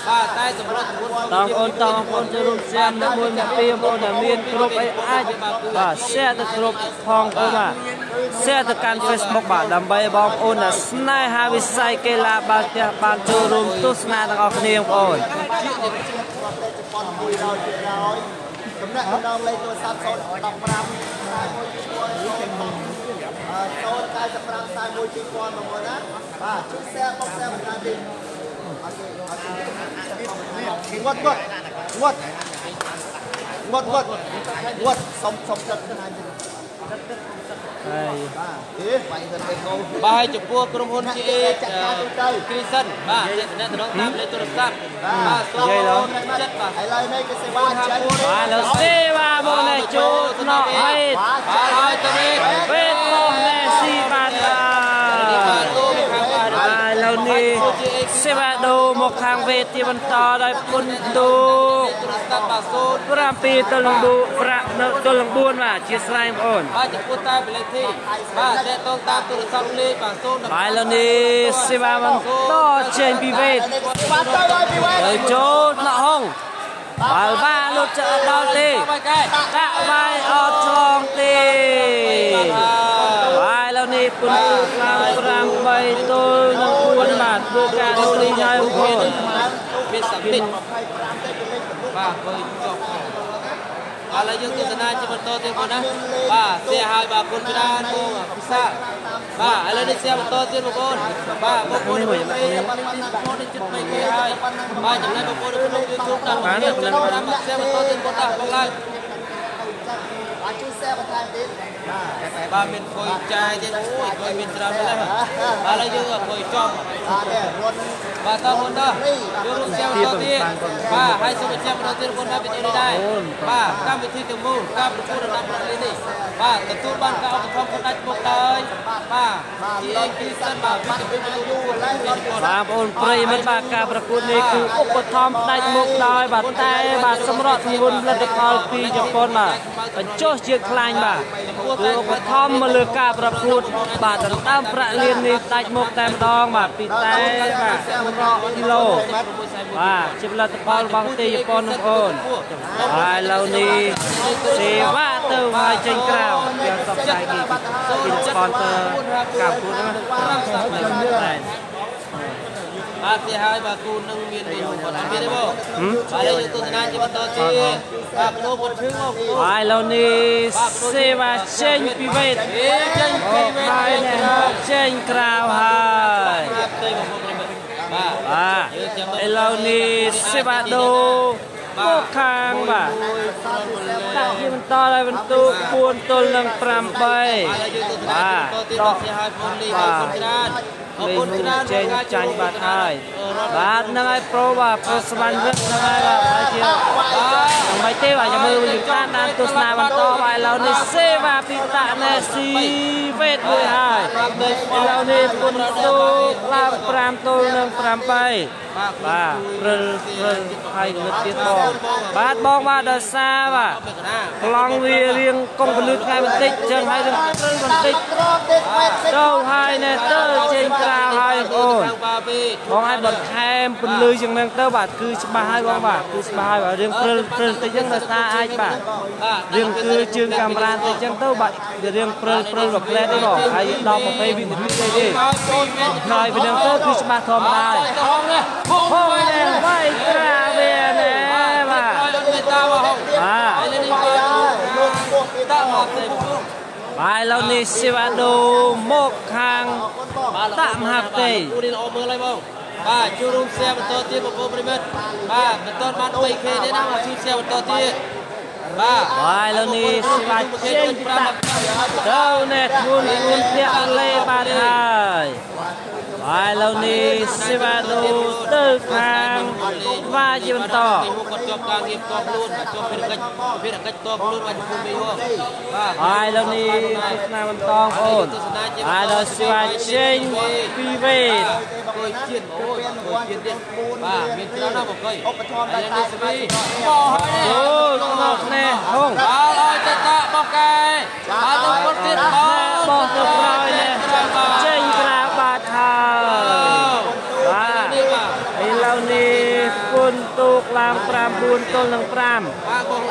Speaker 1: បាទតែសម្រាប់
Speaker 3: បងប្អូនតបងប្អូនចូលរួម share នៅមួយមកពីបងប្អូនដែលមានគ្រប់អីអាចបាទ share ទៅគ្រប់ផងបងបាទ share ទៅកាន់ Facebook បាទដើម្បីបងប្អូនដែលស្នេហាវិស័យកីឡាបាល់ទះបានចូលរួមទស្សនាទាំងអស់គ្នាបងប្អូន
Speaker 2: ចំណែកម្ដងលេខទូរស័ព្ទ015 095 41 2000បងប្អូនណាបាទជួយ share បង share បន្ថែមទៀតងត់ងត់ងត់ងត់ងត់ងត់សុំសុំចិត្តណា
Speaker 3: ហើយ
Speaker 2: បាទទេវាយទៅទៅកោ
Speaker 1: បាទចំពោះក្រុមហ៊ុន GA គ្រីសិនបាទជាតំណតាមលេខទូរស័ព្ទបាទសូមចិត្តបាទ
Speaker 2: ឥឡូវនេះគឺសេវាចេញ
Speaker 3: បាទលោកសេវាមកនេះចូលថ្នាក់ហើយ
Speaker 1: បាទហើយទៅនេះ
Speaker 3: វេទមកនេះស៊ីបាទបាទឥឡូវនេះសេវាដូមកខាងវេទជាបន្តដោយពុនទូ7ទល់នឹង4ទល់នឹង4បាទជាស្រ័យបងប្អូន
Speaker 1: បាទចំពោះតែលេខទីបាទតេតងតាមទូរស័ព្ទលេខបាទ0
Speaker 3: បាទឥឡូវនេះសេវាបន្តចេញពីវេទទៅចូលថ្នាក់ហងបើបាលុតចដល់ទេដាក់វាយអត់ឆ្លងទេបាទឥឡូវនេះពុនទូឡើង8ទល់នឹង4បាទធ្វើការដូរនេះហើយបងប្អូន
Speaker 1: មានសមិទ្ធបាទឃើញចប់ឥឡូវយើងទស្សនាជាបន្តទៀតបងណាបាទសៀហើយបាទគុណច្រើនបងពិសាបាទឥឡូវនេះសៀបន្តទៀតបងប្អូនបាទបងប្អូននេះបងនេះចិត្ត3គេហើយបាទចំណែកបងប្អូននៅក្នុង YouTube តាមទៀតតាមសៀបន្តទៀតបងតាបងឡើង
Speaker 2: បាទជួយ share បន្ថែមទៀត
Speaker 1: បាទមានគុយចាយទៀតអូយគុយមានច្រើនណាស់បាទឥឡូវយើងគុយចំ
Speaker 2: បាទនេះរត់
Speaker 1: បាទតបងតាយើងរួម share បន្តទៀតបាទហើយសូមបញ្ជាក់បន្តទៀតបងណាវីដេអូនេះដែរបាទកម្មវិធីទាំងមូលការប្រកួតរដាប់ប្រលេនេះបាទទទួលបានការឧបត្ថម្ភផ្ដាច់មុខដោយបាទ GA គ្រីសិនបាទវិទ្យាវិទ្យា
Speaker 3: បាទបងប្អូនប្រិយមិត្តបាទការប្រកួតនេះគឺឧបត្ថម្ភផ្ដាច់មុខដោយបាទតែបាទសម្រាប់ទម្ងន់ផលិតផលពីជប៉ុនបាទបញ្ចុះជាខ្លាញ់បាទគឺឧបត្ថម្ភមកលើការប្រកួតបាទដណ្ដើមប្រាក់លាននេះដាច់មុខតែម្ដងបាទពីតែបាទសម្រាប់គីឡូបាទជាផលិតផលរបស់ប្រទេសជប៉ុនបងប្អូនហើយឥឡូវនេះសេវាទៅហើយចេញក្រៅទាំងសពផ្សាយគេពី sponsor ការប្រកួតហ្នឹងតែ
Speaker 1: បាទទីហើយបាទគូនឹងមានទីគាត់អត់មានទេបងបាទយើងទស្សនាជាបន្តទៀតបាទលោកគាត់ឈឺមក
Speaker 3: ហើយឥឡូវនេះសេវាចេញពីវេទ
Speaker 1: ចេញពីវេទ
Speaker 3: ហើយចេញក្រៅហើយ
Speaker 1: បាទ
Speaker 3: បាទឥឡូវនេះសេវាដូមកខាងបាទដាក់ជាបន្តឲ្យបន្ទូ4ទល់នឹង8បាទ
Speaker 1: ដកហើយបងលីអរគុណច្រើនអរគុណច្រើន
Speaker 3: ចេញចាញ់បាត់ហើយបាទហ្នឹងហើយប្រូបាទប្រូស្វាន់រឹកហ្នឹងហើយបាទហើយជាមិនទេបាទចាំមើលយើងតាមដានទស្សនាបន្តបាទឥឡូវនេះសេវាពីតាក់ណែស៊ីវេទមួយហើយឥឡូវនេះពុនទូឡើង5ទល់នឹង8បាទព្រិលព្រិលហើយងឹតទៀតបងបាទបងបាទដោយសារបាទប្លង់វារៀងកុំពលឺថ្ងៃបន្តិចចឹងហើយនឹងព្រិលបន្តិចទៅហើយណែទៅចេញក្រៅហើយបងអូនបងឲ្យបន្ថែមពលឺជាងនឹងទៅបាទគឺច្បាស់ហើយបងបាទគឺច្បាស់ហើយបាទរៀងព្រិលព្រិលបន្តិចចឹងដោយសារអាចបាទរៀងគឺជើងកាមេរ៉ាបន្តិចចឹងទៅបាទវារៀងព្រិលព្រិលមួយផ្លែទេបងហើយ10 20វិនាទីទេហើយពីនឹងទៅគឺច្បាស់ធម្មតាហើយហងណែវាយត្រាវាណែបាទបាទឥឡូវនេះសេវាដូមកខាងតាក់មហាផ្ទៃ
Speaker 1: គូនេះល្អមើលហើយបងបាទជួរួម share បន្តទៀតបងប្អូនប្រិមិត្តបាទមិនទាន់បាន 3K ទេណាបាទជួយ share បន្តទៀត បាទ
Speaker 3: បាទឥឡូវនេះសេវាចេញពីតាទៅនេះធ្ងន់ធ្ងន់ធាក់លេបាទហើយបាទឥឡូវនេះសេវាដូទៅខាងវ៉ាជាបន្ត
Speaker 1: គាត់ជាប់ការងារផ្ទាល់ខ្លួនបាទជាប់ភារកិច្ចភារកិច្ចផ្ទាល់ខ្លួនបាទចំពោះមេហ៎បាទ
Speaker 3: ហើយឥឡូវនេះទស្សនាបន្តបងប្អូនហើយដល់សេវាចេញពីវេទ
Speaker 1: គួយជាតិអូយគួយជាតិទៀតបាទមានច្រើនណាស់បងកុយ
Speaker 2: ឧបត្ថម្ភដោយតែសមាជិក
Speaker 1: បោះហើយនេះ
Speaker 3: ចូលក្នុងនេះហង
Speaker 1: បាទឲ្យទៅតាបោះកែបាទទៅគាត់ទៀតបោះ
Speaker 3: បោះទៅក្រោយនេះចេញក្រៅបាត់ហើយបាទ
Speaker 1: នេះបាទ
Speaker 3: ឥឡូវនេះគុណទូកឡើង9ទល់នឹង5
Speaker 1: បាទបង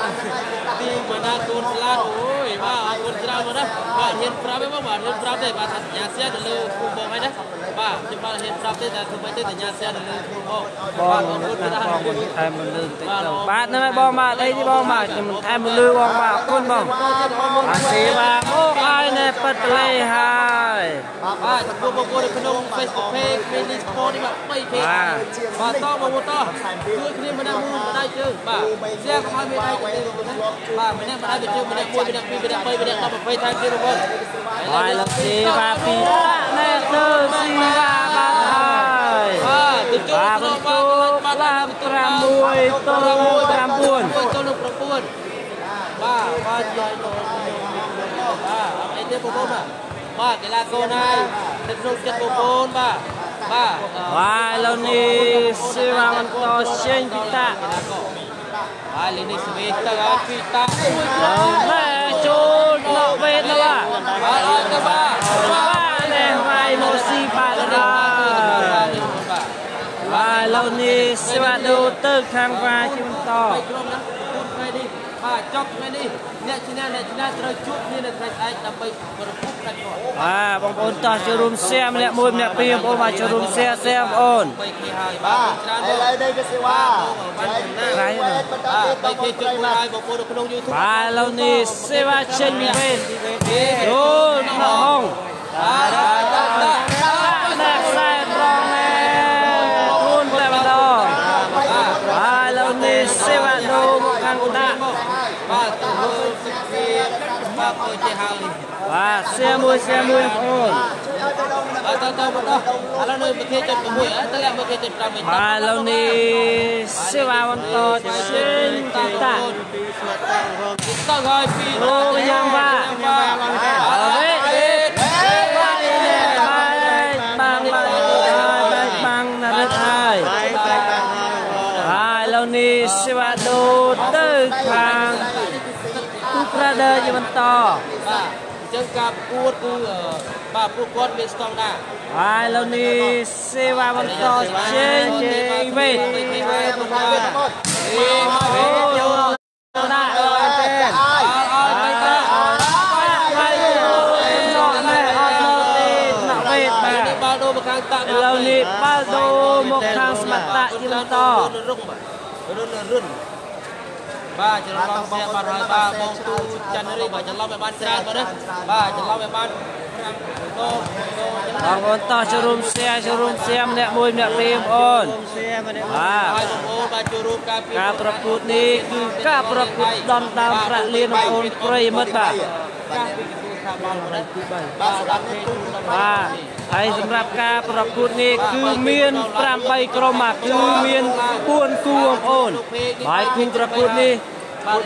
Speaker 1: ទីបណ្ណាកូនស្លាតអូយបាទអរគុណច្រើនមកណាបាទហ៊ានប្រាប់ទេបងបាទហ៊ានប្រាប់ទេបាទថាសញ្ញាសៀទៅលើគូបងហើយណាបាទខ្ញុំបាទហ៊ានប្រាប់ទេតែធ្វើម៉េចទេសញ្ញាសៀទៅលើគូបង
Speaker 3: បងណាបងមិនថែមមលឺបន្តិចទៅបាទហ្នឹងហើយបងបាទអីទេបងបាទខ្ញុំមិនថែមមលឺបងបាទអរគុណបងអាសេវាមកហើយនេះប៉ិតប្លេហើយ
Speaker 1: បាទចំពោះបងប្អូននៅក្នុង Facebook Page Mini Sport នេះបាទ 3K បាទតបងប្អូនតជួយគ្នាម្នាក់មួយម្ដាយជើងបាទសៀកុំឲ្យមានដៃទៅទេបាទម្នាក់ម្ដាយទៅជើងម្នាក់មួយម្នាក់ពីរម្នាក់បីម្នាក់10 20ថែមទៀតបងប្អូន
Speaker 3: ហើយលោកសេវាពីតានេះទៅស៊ីវ៉ាបាទហើយ
Speaker 1: បាទទៅចូល
Speaker 3: បាទ
Speaker 1: ក្នុង
Speaker 3: បន្
Speaker 1: បាទ
Speaker 3: ទូកឡើង6ទល់9
Speaker 1: ទល់នឹង9បាទបាទជួយបាទអីទេបងប្អូនបាទបាទកីឡាករណានៅក្នុងចិត្តបងប្អូនបាទបាទ
Speaker 3: បាទឥឡូវនេះសេវាបន្តចេញពីតា
Speaker 1: បាទលេនេះសវីទៅឲ្យពីតាមួយ
Speaker 3: ណែចូលដល់វេទបាទ
Speaker 1: បាទឲ្យទៅបាទ
Speaker 3: បាទនេះវាយមកស៊ីបាទហើយ
Speaker 1: បាទ
Speaker 3: បាទឥឡូវនេះសេវាដូទៅខាងវ៉ាជាបន្ត
Speaker 1: ក្រុមណាគុណថ្ងៃនេះបាទចប់ថ្ងៃនេះអ្នកឈ្នះអ្នកឈ្នះត្រូវជួបគ្នានៅថ្ងៃស្អែកដើម្បីប្រគល់ផ្ដាច់គាត់
Speaker 3: បាទបងប្អូនតោះចូលរួមសែម្នាក់មួយម្នាក់ពីរបងប្អូនបាទចូលរួមសែសែបងប្អូន
Speaker 1: 3K ហើយ
Speaker 2: បា
Speaker 1: បាទ
Speaker 2: ទឥឡូវនេះគឺសេវា
Speaker 3: ក្រៃណាស់
Speaker 2: បន្ត
Speaker 1: បាទ
Speaker 2: ទៀតបង
Speaker 1: 3K
Speaker 2: ប្អូន
Speaker 1: ជុតមួយហើយបងប្អូននៅក្នុង YouTube
Speaker 3: បាទឥឡូវនេះសេវាចេញពីវេទចូលដល់ហង
Speaker 1: បាទបាទបាទ
Speaker 3: បាទខ្សែត្រង់ណែធ្ងន់តែម្ដងបាទឥឡូវនេះសេវាដូមកខាងដាក់
Speaker 1: បាទទៅមើលសុខភាពបាទអើយចេះហើយ
Speaker 3: បាទសែមួយសែមួយបងប្អូន
Speaker 2: ជួយឲ្យទៅដល់
Speaker 1: បាទទៅទៅមកដល់ឥឡូវនៅប្រទេសចិត្ត6ទៅលាក់ប្រទេសចិត្ត5វិញ
Speaker 3: បាទឥឡូវនេះសេវាបន្តចេញពីតា
Speaker 1: ទៅហើយពី
Speaker 3: អូយ៉ាងបាទ
Speaker 1: បាទ
Speaker 3: វេទបាទនេះបាទបាំងបាទហើយបាំងណារិតហើយបាទឥឡូវនេះសេវាដូទៅខាងទូប្រាដឺជាបន្ត
Speaker 1: បាទអញ្ចឹងការប្រកួតគឺបាទពួកគាត់មានស្តង់ដារ
Speaker 3: ហើយឥឡូវនេះសេវាបន្តចេញពីវេទអូដាក់
Speaker 2: ហើយ
Speaker 1: ឲ្យទៅ
Speaker 3: ហើយចូលណែអត់នៅទេថ្នាក់វេទបាទ
Speaker 1: នេះបាល់ដូរមកខាងតា
Speaker 3: ឥឡូវនេះបាល់ដូមកខាងសមត្តៈជាបន្ត
Speaker 1: រុងបាទរុនរុនបាទច្រឡំសៀបាទហើយបាទបងទូច័ន្ទរីបាទច្រឡំឲ្យបានច្រើនបាទណាបាទច្រឡំឲ្យបាន5ដង
Speaker 3: បងប្អូនតោះចូលរួម share ចូលរួម share ម្នាក់មួយម្នាក់ពីរបងប្អូនបាទ
Speaker 1: ហើយបងប្អូនបាទចូលរួមការពារ
Speaker 3: ការប្រកួតនេះគឺការប្រកួតដណ្ដើមប្រាក់លានបងប្អូនប្រិយមិត្តបាទ
Speaker 1: ការពីក្រសួងស្ថាប័នបាទ
Speaker 2: បាទសម្រាប់នេះទូ
Speaker 3: បាទហើយសម្រាប់ការប្រកួតនេះគឺមាន8ក្រុមបាទគឺមាន4គូបងប្អូនហើយគូប្រកួតនេះ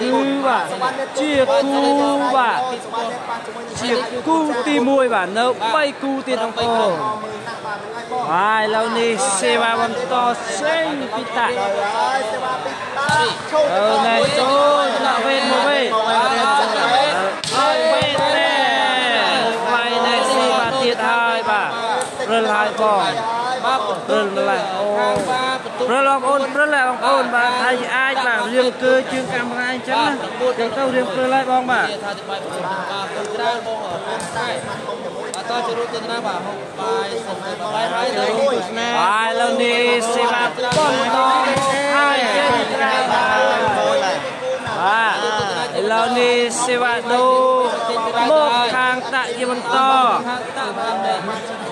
Speaker 3: គឺបាទជាគូបាទ
Speaker 2: សម្រាប់នេះប៉ះជាមួយនឹង
Speaker 3: ជាគូទី1បាទនៅ3គូទៀតបងប្អូន
Speaker 2: មើលណាស់បាទហ្នឹងហើយបង
Speaker 3: ហើយឥឡូវនេះសេវាបន្តសេងពីតា
Speaker 2: ហើយសេវាពីតាឈូ
Speaker 3: អឺណែចូលថ្នាក់វេទមកវេទហើយវេទទេវាយណែស៊ីបាទទៀតហើយបាទព្រិលហើយបង
Speaker 1: បាទ
Speaker 3: ព្រិលម្លេះអូ
Speaker 1: ខាងបាទបន្ទុក
Speaker 3: ព្រិលបងប្អូនព្រិលហើយបងប្អូនបាទហើយអាចបាទរៀងគឺជើងកាមេរ៉ាអញ្ចឹងណាចឹងទៅរៀងព្រិលហើយបងបាទ
Speaker 1: ថាទីបាយបាទគុណច្រើនបងគុណតែបាទតចូលរួមទស្សនាបាទហុកបាយសុំបាយហើយទៅ
Speaker 3: ហើយឥឡូវនេះសេវាបន្តហើយចេញក្រៅបាទបាទឥឡូវនេះសេវាដូមកខាងតាក់ជាបន្ត
Speaker 1: ខាងតាបាទ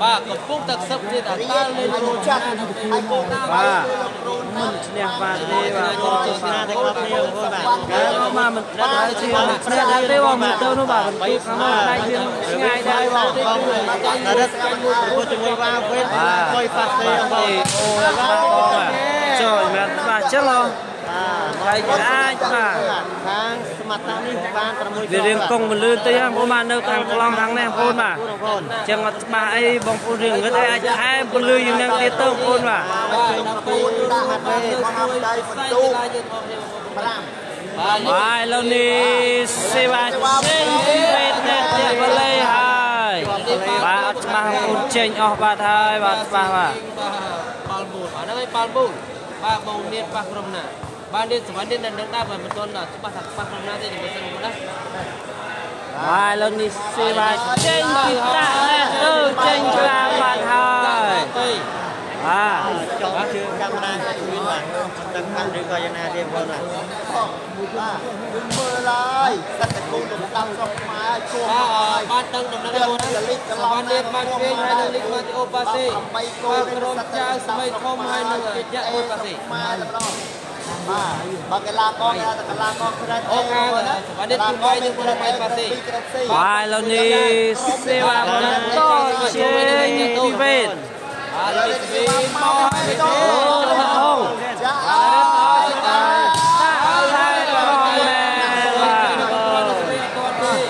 Speaker 1: បាទកំពុងតែខ្សឹបទៀតតើលេង
Speaker 2: ចាត់ហើយកូន
Speaker 3: បាទ
Speaker 2: លោករូន
Speaker 3: មិនឈ្នះបាទទេបាទបង
Speaker 1: ទស្សនាទាំងអស់គ្នាបងប្អូនបាទ
Speaker 3: មកមិនដល់ជាឈ្នះដែរទេបងមើលទៅនោះបាទបន្ទូខាងនោះដៃយើងឆ្ងាយដែរបង
Speaker 1: បងណារិតមួយជាមួយវ៉ាវេតកុយប៉ាសេបង
Speaker 3: អូបាទបងចូលមែនបាទចឹងហ៎ហើយអាចបាទ
Speaker 1: ខាងសមត្ថៈនេះបាន6
Speaker 3: វារៀងកង់មលឿនតិចហ្នឹងបងបាទនៅខាងប្លង់ខាងនេះបងប្អូនបាទចឹងអត់ច្បាស់អីបងប្អូនរៀងងឹតអីអាចថែមពលឺយ៉ាងហ្នឹងទៀតទៅបងប្អូនបាទ
Speaker 2: 9ដាក់មកដៃបន្ទូ5
Speaker 3: បាទឥឡូវនេះសេវាចេញពីវេទអ្នកទៀតបល័យហើយបាទអត់ច្បាស់បងប្អូនចេញអស់បាទហើយបាទច្បាស់បាទ
Speaker 1: បាល់មូលបាទហ្នឹងហើយបាល់មូលបាទបងនៀតប៉ះក្រុមណាបាទនេះសវណ្ណនេះនៅនឹងដែរបាទមិនទាន់ច្បាស់ថាប៉ះក្រុមណាទេជំរាបសួរបងប្អូនណា
Speaker 3: បាទឥឡូវនេះសេវាចេញពីតាក់នេះទៅចេញក្រាបាទហើយបាទ
Speaker 1: ចង់ជឿកាមេរ៉ាជួយបាទដឹងបានឬក៏យ៉ាងណាទេបងប្អូនបាទ
Speaker 2: បាទមើលឡើយសិតតែគូលំដាប់ស្រុកខ្មែរគួរ
Speaker 1: បាទបានដឹងដំណឹងបងណាសវណ្ណនេះបានពេញហើយនឹងលីកម៉ាទីអូប៉ាសេ
Speaker 2: 8គូ
Speaker 1: ក្រុមចៅស្មីធំហើយនឹងយៈអូប៉ាសេ
Speaker 2: ខ្មែរតែម្ដងបាទបើកីឡាករគេថាកីឡាករក្រេត
Speaker 1: អូខាងសវណ្ណនេះគឺវាយនឹងក្រុមអៃប៉ាសេ
Speaker 3: បាទឥឡូវនេះសេវាបន្តចេញពីវេទ
Speaker 1: បាទនេះពីមកហើយ
Speaker 3: អូហង
Speaker 2: ចា
Speaker 3: អើយតាហើយក្រមមែនបាទ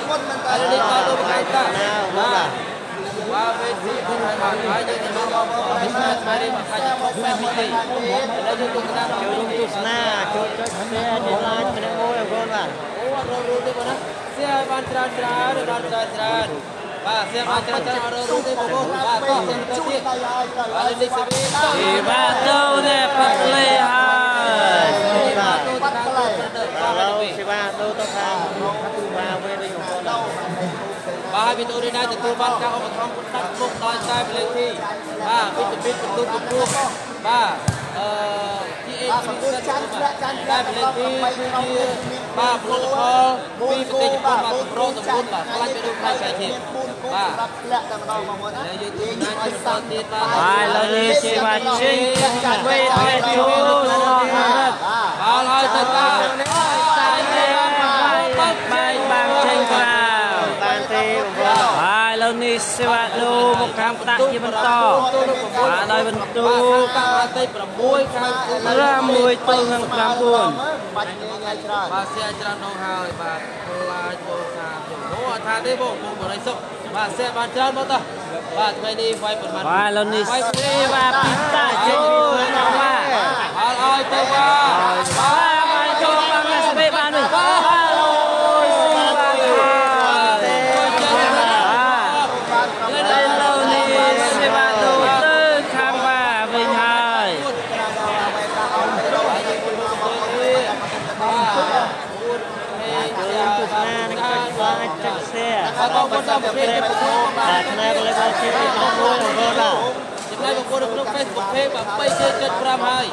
Speaker 2: មុនមិនតើ
Speaker 1: នេះតទៅបកាយតាបាទបាទវេទទីហើយបាទហើយយើងទៅបងប្អូននេះស្មាននេះមកខាច់បែបនេះឥឡូវយើងទស្សនា
Speaker 5: ចូលរួមទស្សនាចូលចុច share ចុច like ម្នាក់មួយបងប្អូនបាទ
Speaker 1: អូអត់រត់ទេបងណា share បានច្រើនច្រើនបានច្រើនច្រើនបាទ share បានច្រើនច្រើនអត់រត់ទេបងប្អូនបាទតោះទៅទៀតបាទនេះសេវី
Speaker 3: ទីបាទទៅនេះផឹកលេហើយ
Speaker 5: បាទឥឡូវសេវាដូរទៅខាងបាទវិញវិញបងប្អូន
Speaker 1: បាទវីដេអូនេះដែរទទួលបានការឧបត្ថម្ភផ្ដាច់មុខដោយតែប្លេធីបាទវីតាមីនបន្ទុកកម្ពស់បាទអឺ GH
Speaker 2: ចាន់ធ្លាក់ចាន់
Speaker 1: តែប្លេធីគឺជាបាទផលិតផលពីប្រទេសជប៉ុនបាទកម្រទម្ងន់បាទខ្លាញ់ទៅដូចផ្នែកឆៃជាតិបាទ
Speaker 2: សម្រាប់ធ្លាក់តែម្ដងបងប្អូនណា
Speaker 1: យើងទស្សនាជាបន្តទៀតបាទ
Speaker 3: បាទឥឡូវនេះសេវាចេញវេទវេទចូលអស់ហើយ
Speaker 1: បាទហើយទៅតា
Speaker 3: តែទេបាយបាយបាងចេញក្រៅ
Speaker 5: បានទេបងប្អូន
Speaker 3: បាទឥឡូវនេះសេវាដូមកខាងផ្ដាក់ជាបន្តបាទដោយបន្ទូ
Speaker 1: ខាងទី6ខាង
Speaker 3: 6ទល់នឹង9
Speaker 2: បាច់ងាយងាយច្រើន
Speaker 1: បាទសៀច្រើនដងហើយបាទខ្លាចបងសាខ្ញុំអូអត់ថាទេបងបងបរិសុទ្ធបាទសៀបានច្រើនមកតោះបាទថ្ងៃនេះវាយប្រមាណ
Speaker 3: បាទឥឡូវនេះសេវាពីតាចេញពីខ្លួនបាទ
Speaker 1: បាទឲ្យទៅបាទ
Speaker 3: បាទបាទចូលបានស្បេបាននេះបាទអូយសេវាបាទឥឡូវនេះសេវាដូទៅខាងបាទវិញហើយ
Speaker 5: ចូលរួមទស្សនានិងចុច like ចុច share
Speaker 1: បាទបងប្អូនតាមប្រភេទ
Speaker 5: បាទផ្នែកលេខជាទី1បងប្អូនបាទ
Speaker 1: ចំណែកបងប្អូននៅក្នុង Facebook Page បាទ 3.5 ហើយ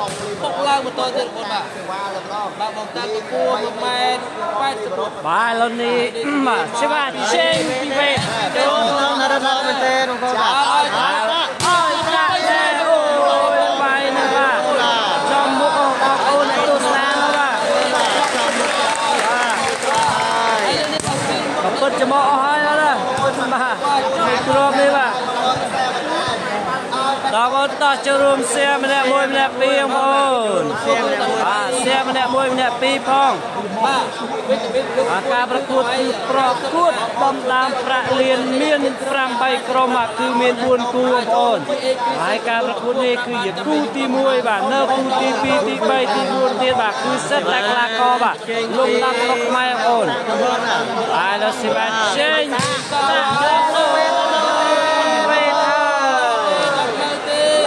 Speaker 1: ពុកឡើងបន្តទៀតបងប្អូនបាទ
Speaker 2: សេវាតែម្ដង
Speaker 1: បាទបងតាកម្ពស់1ម៉ែត្រ84
Speaker 3: បាទឥឡូវនេះបាទសេវាចេញពីវេទ
Speaker 5: ចូលក្នុងណារត់មែនទេបងប្អូនបាទ
Speaker 1: ឲ្យ
Speaker 3: អើយចាក់ទេអូយបាយណាស់បាទចំមុខបងប្អូនអ្នកទស្សនានោះបាទក៏ពិតច្មោះអស់ហើយណាបាទគ្រាប់នេះបាទដល់បងតោះចូលរួម share ម្នាក់មួយម្នាក់ពីរបងប្អូនបាទ share ម្នាក់មួយម្នាក់ពីរផង
Speaker 1: បាទវីតាមីន
Speaker 3: អាការប្រកួតគឺប្រកួតបំដើមប្រាក់លានមាន8ក្រុមបាទគឺមាន4គូបងប្អូនហើយការប្រកួតនេះគឺជាគូទី1បាទនៅគូទី2ទី3ទី4ទៀតបាទគឺសិតតែកីឡាករបាទលំដាប់ស្រុកខ្មែរបងប្អូនហើយដល់សេវាចេញដាក់ទៅវេទហើយ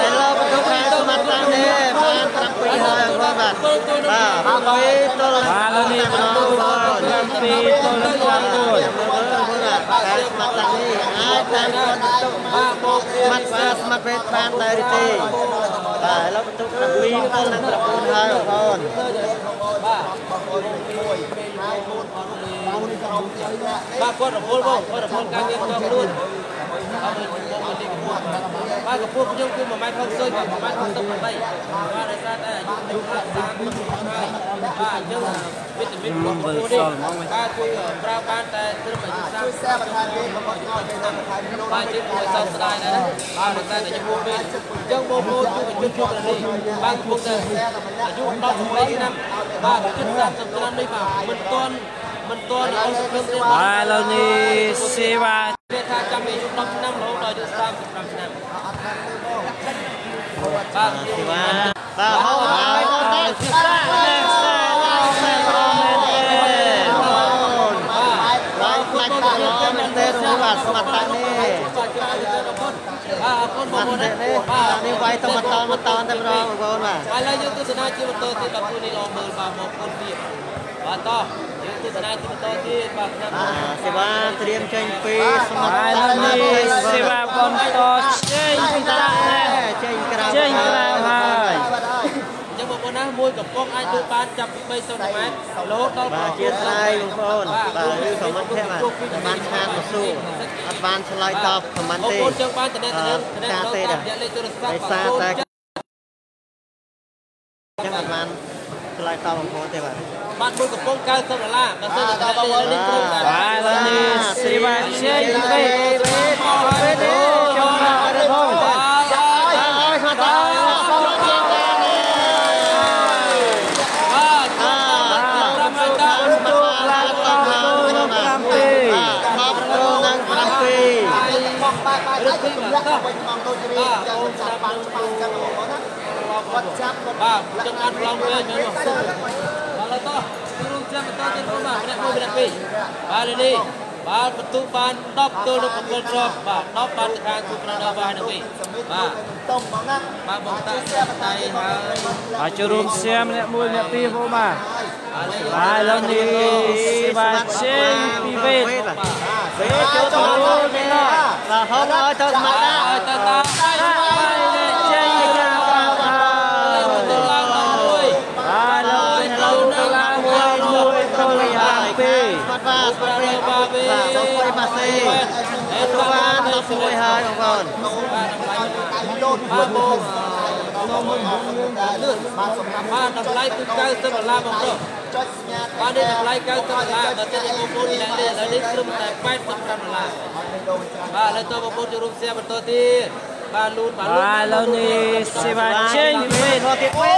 Speaker 5: ឥឡូវបន្ទុកខាងសមត្ថៈនេះបាន7ហើយបងប្អូនបាទបាទ7ទល់
Speaker 3: បាទឥឡូវនេះបន្ទូ7ទល់នឹង9
Speaker 5: បងប្អូនបាទខាងសមត្ថៈនេះអាចតាមគាត់បន្ទុក
Speaker 1: បាទមក
Speaker 5: ស្មាត់បាទស្មាត់ពេទ្យបានដែរឬទេបាទឥឡូវបន្ទុក7ទល់នឹង9ហើយបងប្អូន
Speaker 1: បាទ
Speaker 2: បងប្អូនមួយហើយ4 4ក្រុមទៀតធ្លាក់
Speaker 1: បាទគាត់រវល់បងគាត់រវល់ការងារផ្ទាល់ខ្លួនអត់បងមកនេះកម្ពស់បាទកម្ពស់ខ្ញុំគឺ1ម៉ែត្រ60បាទ1ម៉ែត្រ68បាទដោយសារតែអាយុ អាយុ30ឆ្នាំហើយបាទអញ្ចឹងវីតាមីនរបស់បងប្អូននេះបាទគឺប្រើបានតែត្រឹមអាយុ30
Speaker 2: ជួយ share បន្ថែមទៀតបងប្អូនឲ្យគេបន្ថែមនោះ
Speaker 1: បាទជាគួរសោកស្ដាយដែរណាបាទប៉ុន្តែតែចំពោះពេលអញ្ចឹងបងប្អូនយុវជនគ្រប់នេះបាទកំពុងតែអាយុ18ឆ្នាំបាទជិត30ឆ្នាំនេះបាទមិនទាន់អូនសង្ឃឹមទេ
Speaker 3: បាទឥឡូវនេះសេវា
Speaker 1: គេថាចាំអាយុ10ឆ្នាំរហូតដល់អាយុ35ឆ្នាំបាទ
Speaker 5: សេវាបាទហៅហើយទៅតែ
Speaker 3: មែនទេ
Speaker 5: បាទខ្លាច់តាល្អមែនទេបាទស្មាត់តានេះ
Speaker 1: បាទជួយអរគុណបាទអរគុណបងប្អូនណា
Speaker 5: នេះ
Speaker 1: បាទ
Speaker 5: នេះវាយទៅមកតមកតតែម្ដងបងប្អូនបាទ
Speaker 1: ឥឡូវយើងទស្សនាជាបន្តទៀតបាទគូនេះល្អមើលបាទមកគុណទៀតបាទតោះយើងទស្សនាជាបន្តទៀតបាទខ្ញុំ
Speaker 5: សេវាត្រៀមចេញពីស្មាត់
Speaker 3: បាទឥ
Speaker 5: តា
Speaker 3: ឡូវនេះសេវាបន្តចេញពីតាណែ
Speaker 5: ចេញក្រៅ
Speaker 3: ចេញក្រៅហើយ
Speaker 2: បាទហើយ
Speaker 1: អញ្ចឹងបងប្អូនណាមួយកំប៉ុងអាចលក់បានចាប់ពី3សង់ទីម៉ែត្ររហូតដល់
Speaker 5: បាទជាស្រ័យបងប្អូនបាទឬខមមិនទេបាទបានឆានមកសួរអត់បានឆ្លើយតបខមមិន
Speaker 1: បង
Speaker 5: ទេ
Speaker 1: ប្អូនចង់បានតំណែងតំណែងតាមរយៈលេខទូរស័ព្ទ
Speaker 5: ដោយសារតែចឹងអត់បានឆ្លើយតបបងប្អូនទេបាទ
Speaker 1: បាទមួយកំប៉ុង90ដុល្លារបើសិនជាតំណែងនេះត្រឹមតែ
Speaker 3: បាទឥឡូវនេះសេវាចេញពី
Speaker 5: ពេលនេះ
Speaker 3: ចូលមកអត់ផង
Speaker 5: ហើយស្មាត់តា
Speaker 1: បាទ5ហើយតា
Speaker 3: ទូឡើងតទៅ7
Speaker 5: 10ទល់នឹង7
Speaker 2: បងបាទបាទហើយទម្លាក់វិញបងដូចរៀនចឹងចាប់បានច្បាស់ចឹងបងប្អូនណាគាត់ចាប់គាត់
Speaker 1: បាទចឹងបានប្លង់វិញហ្នឹងបាទឡើយតោះទូរួមចាំបន្តទៀតបងបាទម្នាក់មួយម្នាក់ពីរបាទនេះបាទបន្ទុកបាន10ទល់នឹង7គ្រាប់បាទ10បានទៅខាងគូប្រដៅបាទនឹងវិញបាទ
Speaker 2: តុំបងណា
Speaker 1: បាទបងតា
Speaker 2: share បន្ថែមទៀតបង
Speaker 3: បាទចូលរួមសៀមម្នាក់មួយម្នាក់ពីរបងបាទបាទឥឡូវនេះសេវាចេញពីវេទ
Speaker 5: ពេលចូលចូលនេះបាទហត់ឲ្យទៅស្មាត់តា
Speaker 1: ហើយតាតា
Speaker 3: ចេញក្រៅបាទ
Speaker 1: ទៅឡើងដល់មួយ
Speaker 3: បាទឥឡូវនេះទៅឡើងមួយមួយទល់នឹង7
Speaker 5: ស្មាត់បាទស្មាត់ពេល
Speaker 1: បាទវិញ
Speaker 5: បាទសូមស្វ័យបាសេ
Speaker 1: អេ
Speaker 5: ទៅបាន11ហើយបងប្អូន
Speaker 1: បាទតម្លៃ
Speaker 2: ដៃលោត
Speaker 1: បាទបង
Speaker 2: លឿនបាទសម្រាប់
Speaker 1: បាទតម្លៃគឺ90ដុល្លារបងប្រុស
Speaker 2: ចុចសញ្ញា
Speaker 1: បាទនេះតម្លៃ90ដុល្លារបើសិនជាបងប្អូនអ្នកនេះឥឡូវនេះត្រឹមតែ85ដុល្លារបាទឥឡូវតបងប្អូនចូលរួម share បន្តទៀតបាទលូនបាទលូន
Speaker 3: បាទឥឡូវនេះសេវាចេញពីវេទ
Speaker 5: ទៀតពេល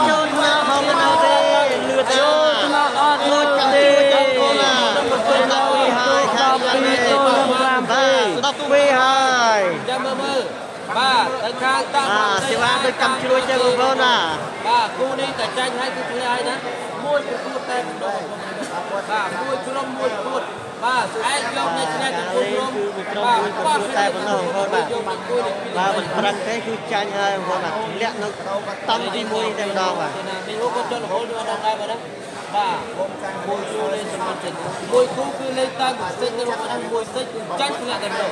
Speaker 5: ចូលមកហងនៅទេលឿន
Speaker 3: ចូលថ្នាក់អត់លូនទេ
Speaker 5: បងប្អូនណា12ហើយខាង
Speaker 3: 12ទល់នឹង7
Speaker 5: បាទ12ហើយ
Speaker 1: ចាំមើលមើលបាទទៅខាងតា
Speaker 5: បាទសេវាដូចកម្មជ្រួចចឹងបងប្អូនណា
Speaker 1: បាទគូនេះតែចាញ់ហើយគឺធ្លាក់ហើយណាមួយប្រកួតតែម្ដងបាទមួយក្រុមមួយប្រកួតបាទស្អែកយកនៅឆ្នះទាំងគូក្រុមបាទ
Speaker 5: មួយប្រកួតតែប៉ុណ្ណោះបងប្អូនបាទ
Speaker 1: យកមកគូនេះពីរ
Speaker 5: បាទមិនប្រឹងទេគឺចាញ់ហើយបងប្អូនបាទធ្លាក់នៅតង់ទី1តែម្ដងបាទ
Speaker 1: ណាមីអូក៏ចុះរហូតយកដល់ដែរបាទណាបាទមួយគូលេងសម្រាប់ចិត្តមួយគូគឺលេងតាមសិចទៅបងមួយសិចគឺចាញ់ធ្លាក់តែម្ដង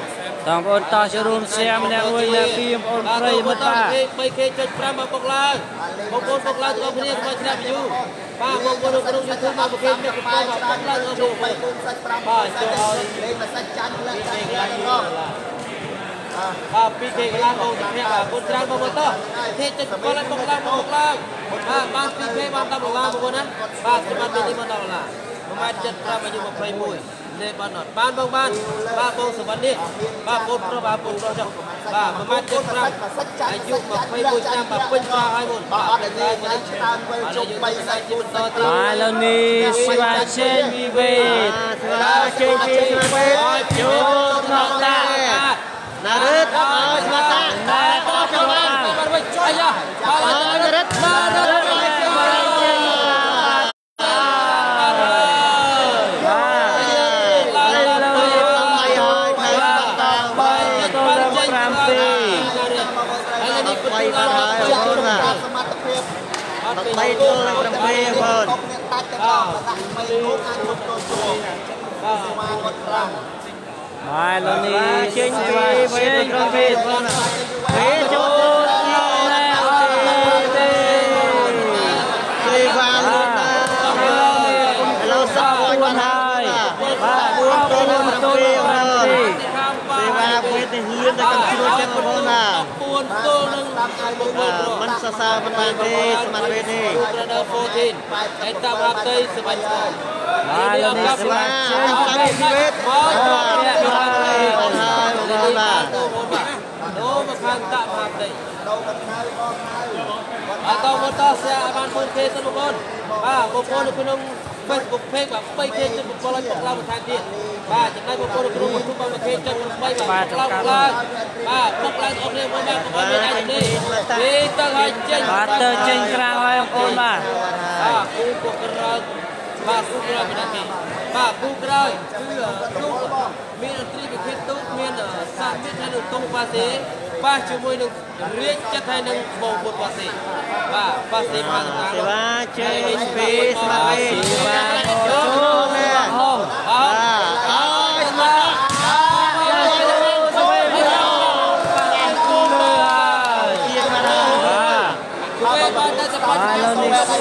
Speaker 3: បងប្អូនតោះចូលរួមសៀមម្នាក់មួយម្នាក់ពីរបងប្អូនប្រិយមិត្តបាទ
Speaker 1: 3K.5 មកបុកឡើងបងប្អូនបុកឡើងទាំងអស់គ្នាស្មើឆ្នាំយូបាទបងប្អូននៅក្នុង YouTube មកប្រគេអ្នកកំពុងមកបុកឡើងទាំងអស់គ្នា
Speaker 2: 3កូនសាច់5
Speaker 1: បាទចូលឲ្យ
Speaker 2: លេងមួយសាច់ចាញ់លាក់ចាញ់លាក់ទាំងអស់
Speaker 1: បាទ 2K កន្លះបងសុភ័ក្របាទគុណច្រើនបងប្អូនតោះទេចិត្តកលបុកឡើងបុកឡើងបាទបាន 2K បាន10ដុល្លារបងប្អូនណាបាទសម្រាប់នេះបាន10ដុល្លារ1ម៉ែត្រ75អាយុ21លេបានអត់បានបងបានបាទបងសវណ្ណនេះបាទបងប្រុសបាទបងប្រុសចុះបាទ1ម៉ែត្រ75អាយុ21ឆ្នាំបាទពេញប្រាហើយបង
Speaker 2: បាទ
Speaker 1: បាទ
Speaker 2: អត់តែញ៉ៃច្រើនវិលជុំ3សាច់4សាច់
Speaker 3: បាទឥឡូវនេះសេវាចេញពីវេទ
Speaker 5: សេវាចេញពីស្មាត់ពេល
Speaker 3: ចូលថ្នាក់តា
Speaker 5: ណារិទ្ធឲ្យស្មាត់តា
Speaker 3: ណាតចូលបាន
Speaker 1: បាទវិញអាយ៉ាបាទ
Speaker 5: ណារិទ្ធ
Speaker 1: ណារិទ្ធ
Speaker 3: បាទឥឡូវនេះ
Speaker 5: ហើយហើយខាងស្មាត់តា
Speaker 3: 3ទល់នឹង7
Speaker 1: ហើយនេះ
Speaker 5: បីបានហើយបងប្អូនបាទ
Speaker 2: សមត្ថភាព
Speaker 5: 3ទល់នឹង7បងប្អូន
Speaker 2: កុំអ្នកដាច់ទាំងអស់ដាក់3គូអាចជុំចូលជួ
Speaker 1: បាទ
Speaker 2: សេវាគាត់ខ្លាំង
Speaker 3: បាទឥឡូវនេះ
Speaker 5: ចេញ
Speaker 3: សេ
Speaker 5: ពី
Speaker 3: វាចេញពីវេទ
Speaker 5: ពេលចូល
Speaker 3: ណែអត់ទេ
Speaker 5: សេវាលឿនណាស់ឥឡូវសក់មួយបានហើយ
Speaker 3: បាទ
Speaker 5: 4ទល់នឹង7
Speaker 3: ទល់
Speaker 5: បង
Speaker 3: នឹង
Speaker 5: ប្អូន
Speaker 3: 7
Speaker 5: សេវាពេលនេះលឿនដល់កំជ្រួចចឹងបងប្អូនណា
Speaker 1: 4ទល់នឹង9គ្រាប់
Speaker 5: មិនសរសើរមិនបានទេសមត្ថភាពនេះ
Speaker 1: Brother 14ឯតាមហាផ្ទៃសបាញ់ស្គរ
Speaker 3: បាទលោកនេះសេវាចេញ
Speaker 5: តាមជីវិត
Speaker 1: មកត្រង់
Speaker 3: បាទ
Speaker 5: បាទហើយបងប្អូនបាទ
Speaker 1: បាទដូរមកខាងតាក់មហាផ្ទៃ
Speaker 2: ដូរមិនហើយបងហើយ
Speaker 1: អត់តមកតសែបាន 4K សិនបងប្អូនបាទបងប្អូននៅក្នុង Facebook page បាទ 3K ជិត7ឲ្យបុកឡើងបន្ថែមទៀតបាទចំណែកបងប្អូននៅក្នុង YouTube បាទ 1K ជិត8បាទបុកឡើងឡើងបាទបុកឡើងអស់គ្នាមួយបាទកុំឲ្យមានអាចនេះទេទៅឲ្យចេញ
Speaker 3: បាទទៅចេញក្រៅហើយបងប្អូនបាទ
Speaker 1: បាទគូពុកក្រោយបាទគូក្រោយពីណាគេបាទគូក្រោយគឺទូមានអន្ត្រីវិធានទូមានសាមិត្តហើយនឹងតុងប៉ាសេប៉ះជាមួយនឹងរាជចិត្តហើយនឹងបងពុតប៉ាសេបាទប៉ាសេប៉ាតា
Speaker 5: សេវាចេញពីសមត្ថភាព
Speaker 3: សេវាចូលហង
Speaker 5: បាទអើយស្មាតជាងមកហើយ
Speaker 3: បាទ
Speaker 1: ជួយបានតែសបាច់
Speaker 3: បាទលោកនេះសេ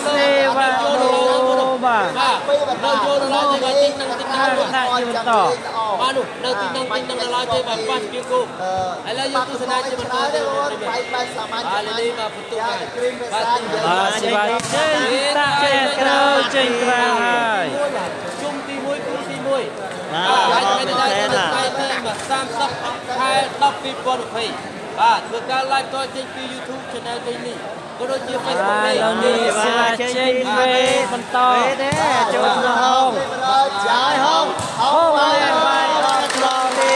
Speaker 3: វាដូបាទ
Speaker 1: បាទនៅចូលដល់ទីទីនឹងទីនឹង
Speaker 3: ដាក់ជាបន្ត
Speaker 1: បាទនោះនៅទីនឹងទីនឹងដល់ទេបាទប៉ះជាគូឥឡូវយើងទស្សនាជាបន្តទៅ
Speaker 2: បែកបែកសាមញ្ញ
Speaker 1: បាទនេះបាទបន្ទុកហើយ
Speaker 2: គ្រីម
Speaker 1: បាទ
Speaker 3: បាទសេវាចេញតាក់ចេញក្រៅចេញក្រៅហើយ
Speaker 1: ជុំទី1គូទី1បាទហើយថ្ងៃនេះដល់ថ្ងៃទី30ខែ10 2020បាទធ្វើការ live តចេញពី YouTube Channel នេះក៏ដូចជា Facebook
Speaker 3: បាទលោកនេះសេវាចេញវេបន្ត
Speaker 5: ទេចូលក្នុងហង
Speaker 2: ចាយ
Speaker 5: ហងហងបាយបាយអត់ឆ្លងទេ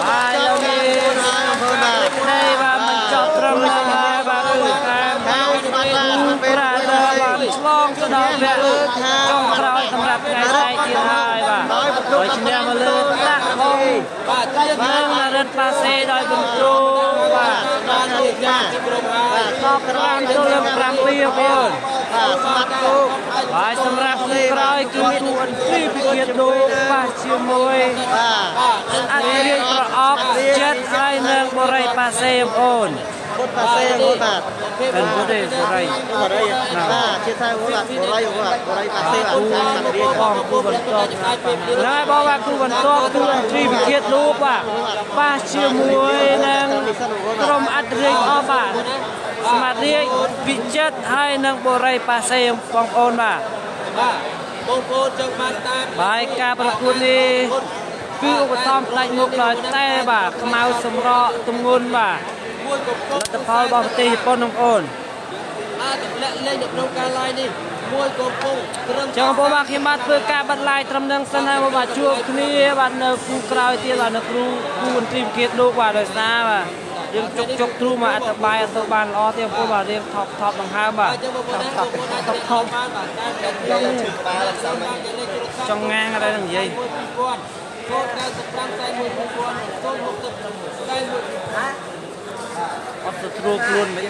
Speaker 3: បាទលោកនេះ
Speaker 5: ហើយបងប្អូនបាទ
Speaker 3: នេះបាទមិនចប់ត្រឹមហ្នឹងហើយបាទគឺខាង
Speaker 5: ខាងស្មាតបាទស្មាតពេល
Speaker 3: ប្រាដបាទឆ្លងទៅដល់វគ្គចុងក្រោយសម្រាប់ថ្ងៃស្អែកទៀតហើយបាទដោយឈ្នះមកលើដាក់ហង
Speaker 1: បាទជា
Speaker 3: និងរិទ្ធប៉ាសេដោយបន្ទូបាទ
Speaker 1: បាននេះចាទីក្រុមហើយ
Speaker 3: តប5ទល់នឹង7បងប្អូន
Speaker 5: បាទស្មាតគូ
Speaker 3: ហើយសម្រាប់គូក្រោយគឺគូអន្ត្រីពិគាដូប៉ះជាមួយ
Speaker 5: បាទ
Speaker 1: បាទនឹង
Speaker 3: អធិរាជប្រអប់ចិត្តហើយនឹងបរិយប៉ាសេបងប្អូន
Speaker 5: ពុតប៉ាសេបងប្អូនបាទ
Speaker 3: មិនពុតទេបរិយ
Speaker 5: បរិយបាទជាថៃបងបាទបរិយបងបាទបរិយប៉ាសេបាទខាងសត្វរាជ
Speaker 3: បងគូបន្ទាប់ហើយបងបាទគូបន្ទាប់គូអន្ត្រីពិគាដូបាទប៉ះជាមួយនឹងក្រុមអធិរាជអស់បាទសមាធិវិចិត្រហើយនឹងបរិយប៉ាសេបងប្អូនបាទ
Speaker 1: បាទបងប្អូនចង់បានតាម
Speaker 3: បាយការប្រកួតនេះគឺឧបត្ថម្ភផ្ដាច់មុខដោយតែបាទខ្មៅសម្រក់ទម្ងន់បាទ
Speaker 1: មួយកំពុង
Speaker 3: លទ្ធផលរបស់ប្រទេសជប៉ុនបងប្អូន
Speaker 1: អាចទម្លាក់លេងនៅក្នុងការ live នេះមួយកំពុងត្រឹម
Speaker 3: ចឹងបងប្អូនបាទខ្ញុំបាទធ្វើការបិទ live ត្រឹមនឹងសិនហើយបងបាទជួបគ្នាបាទនៅគូក្រោយទៀតបាទនៅគ្រូគូអន្ត្រីវិគាលោកបាទដោយសារបាទយើងជុកជុកទ្រូមកអត្ថបាយអត់ទៅបានល្អទេបងប្អូនបាទរៀងថប់ថប់ដង្ហើមបាទ
Speaker 1: អញ្ចឹងបងប្អូនណាបងប្អូនអាចថប់ថប់បានបាទតាមតែ
Speaker 2: ឈឺក្បាលអត់សម
Speaker 3: ចង់ងាងអត់ដែរនឹងនិយាយ
Speaker 1: 1000 095 41 2000 066 41
Speaker 3: អត់ទៅត្រួតខ្លួនមិន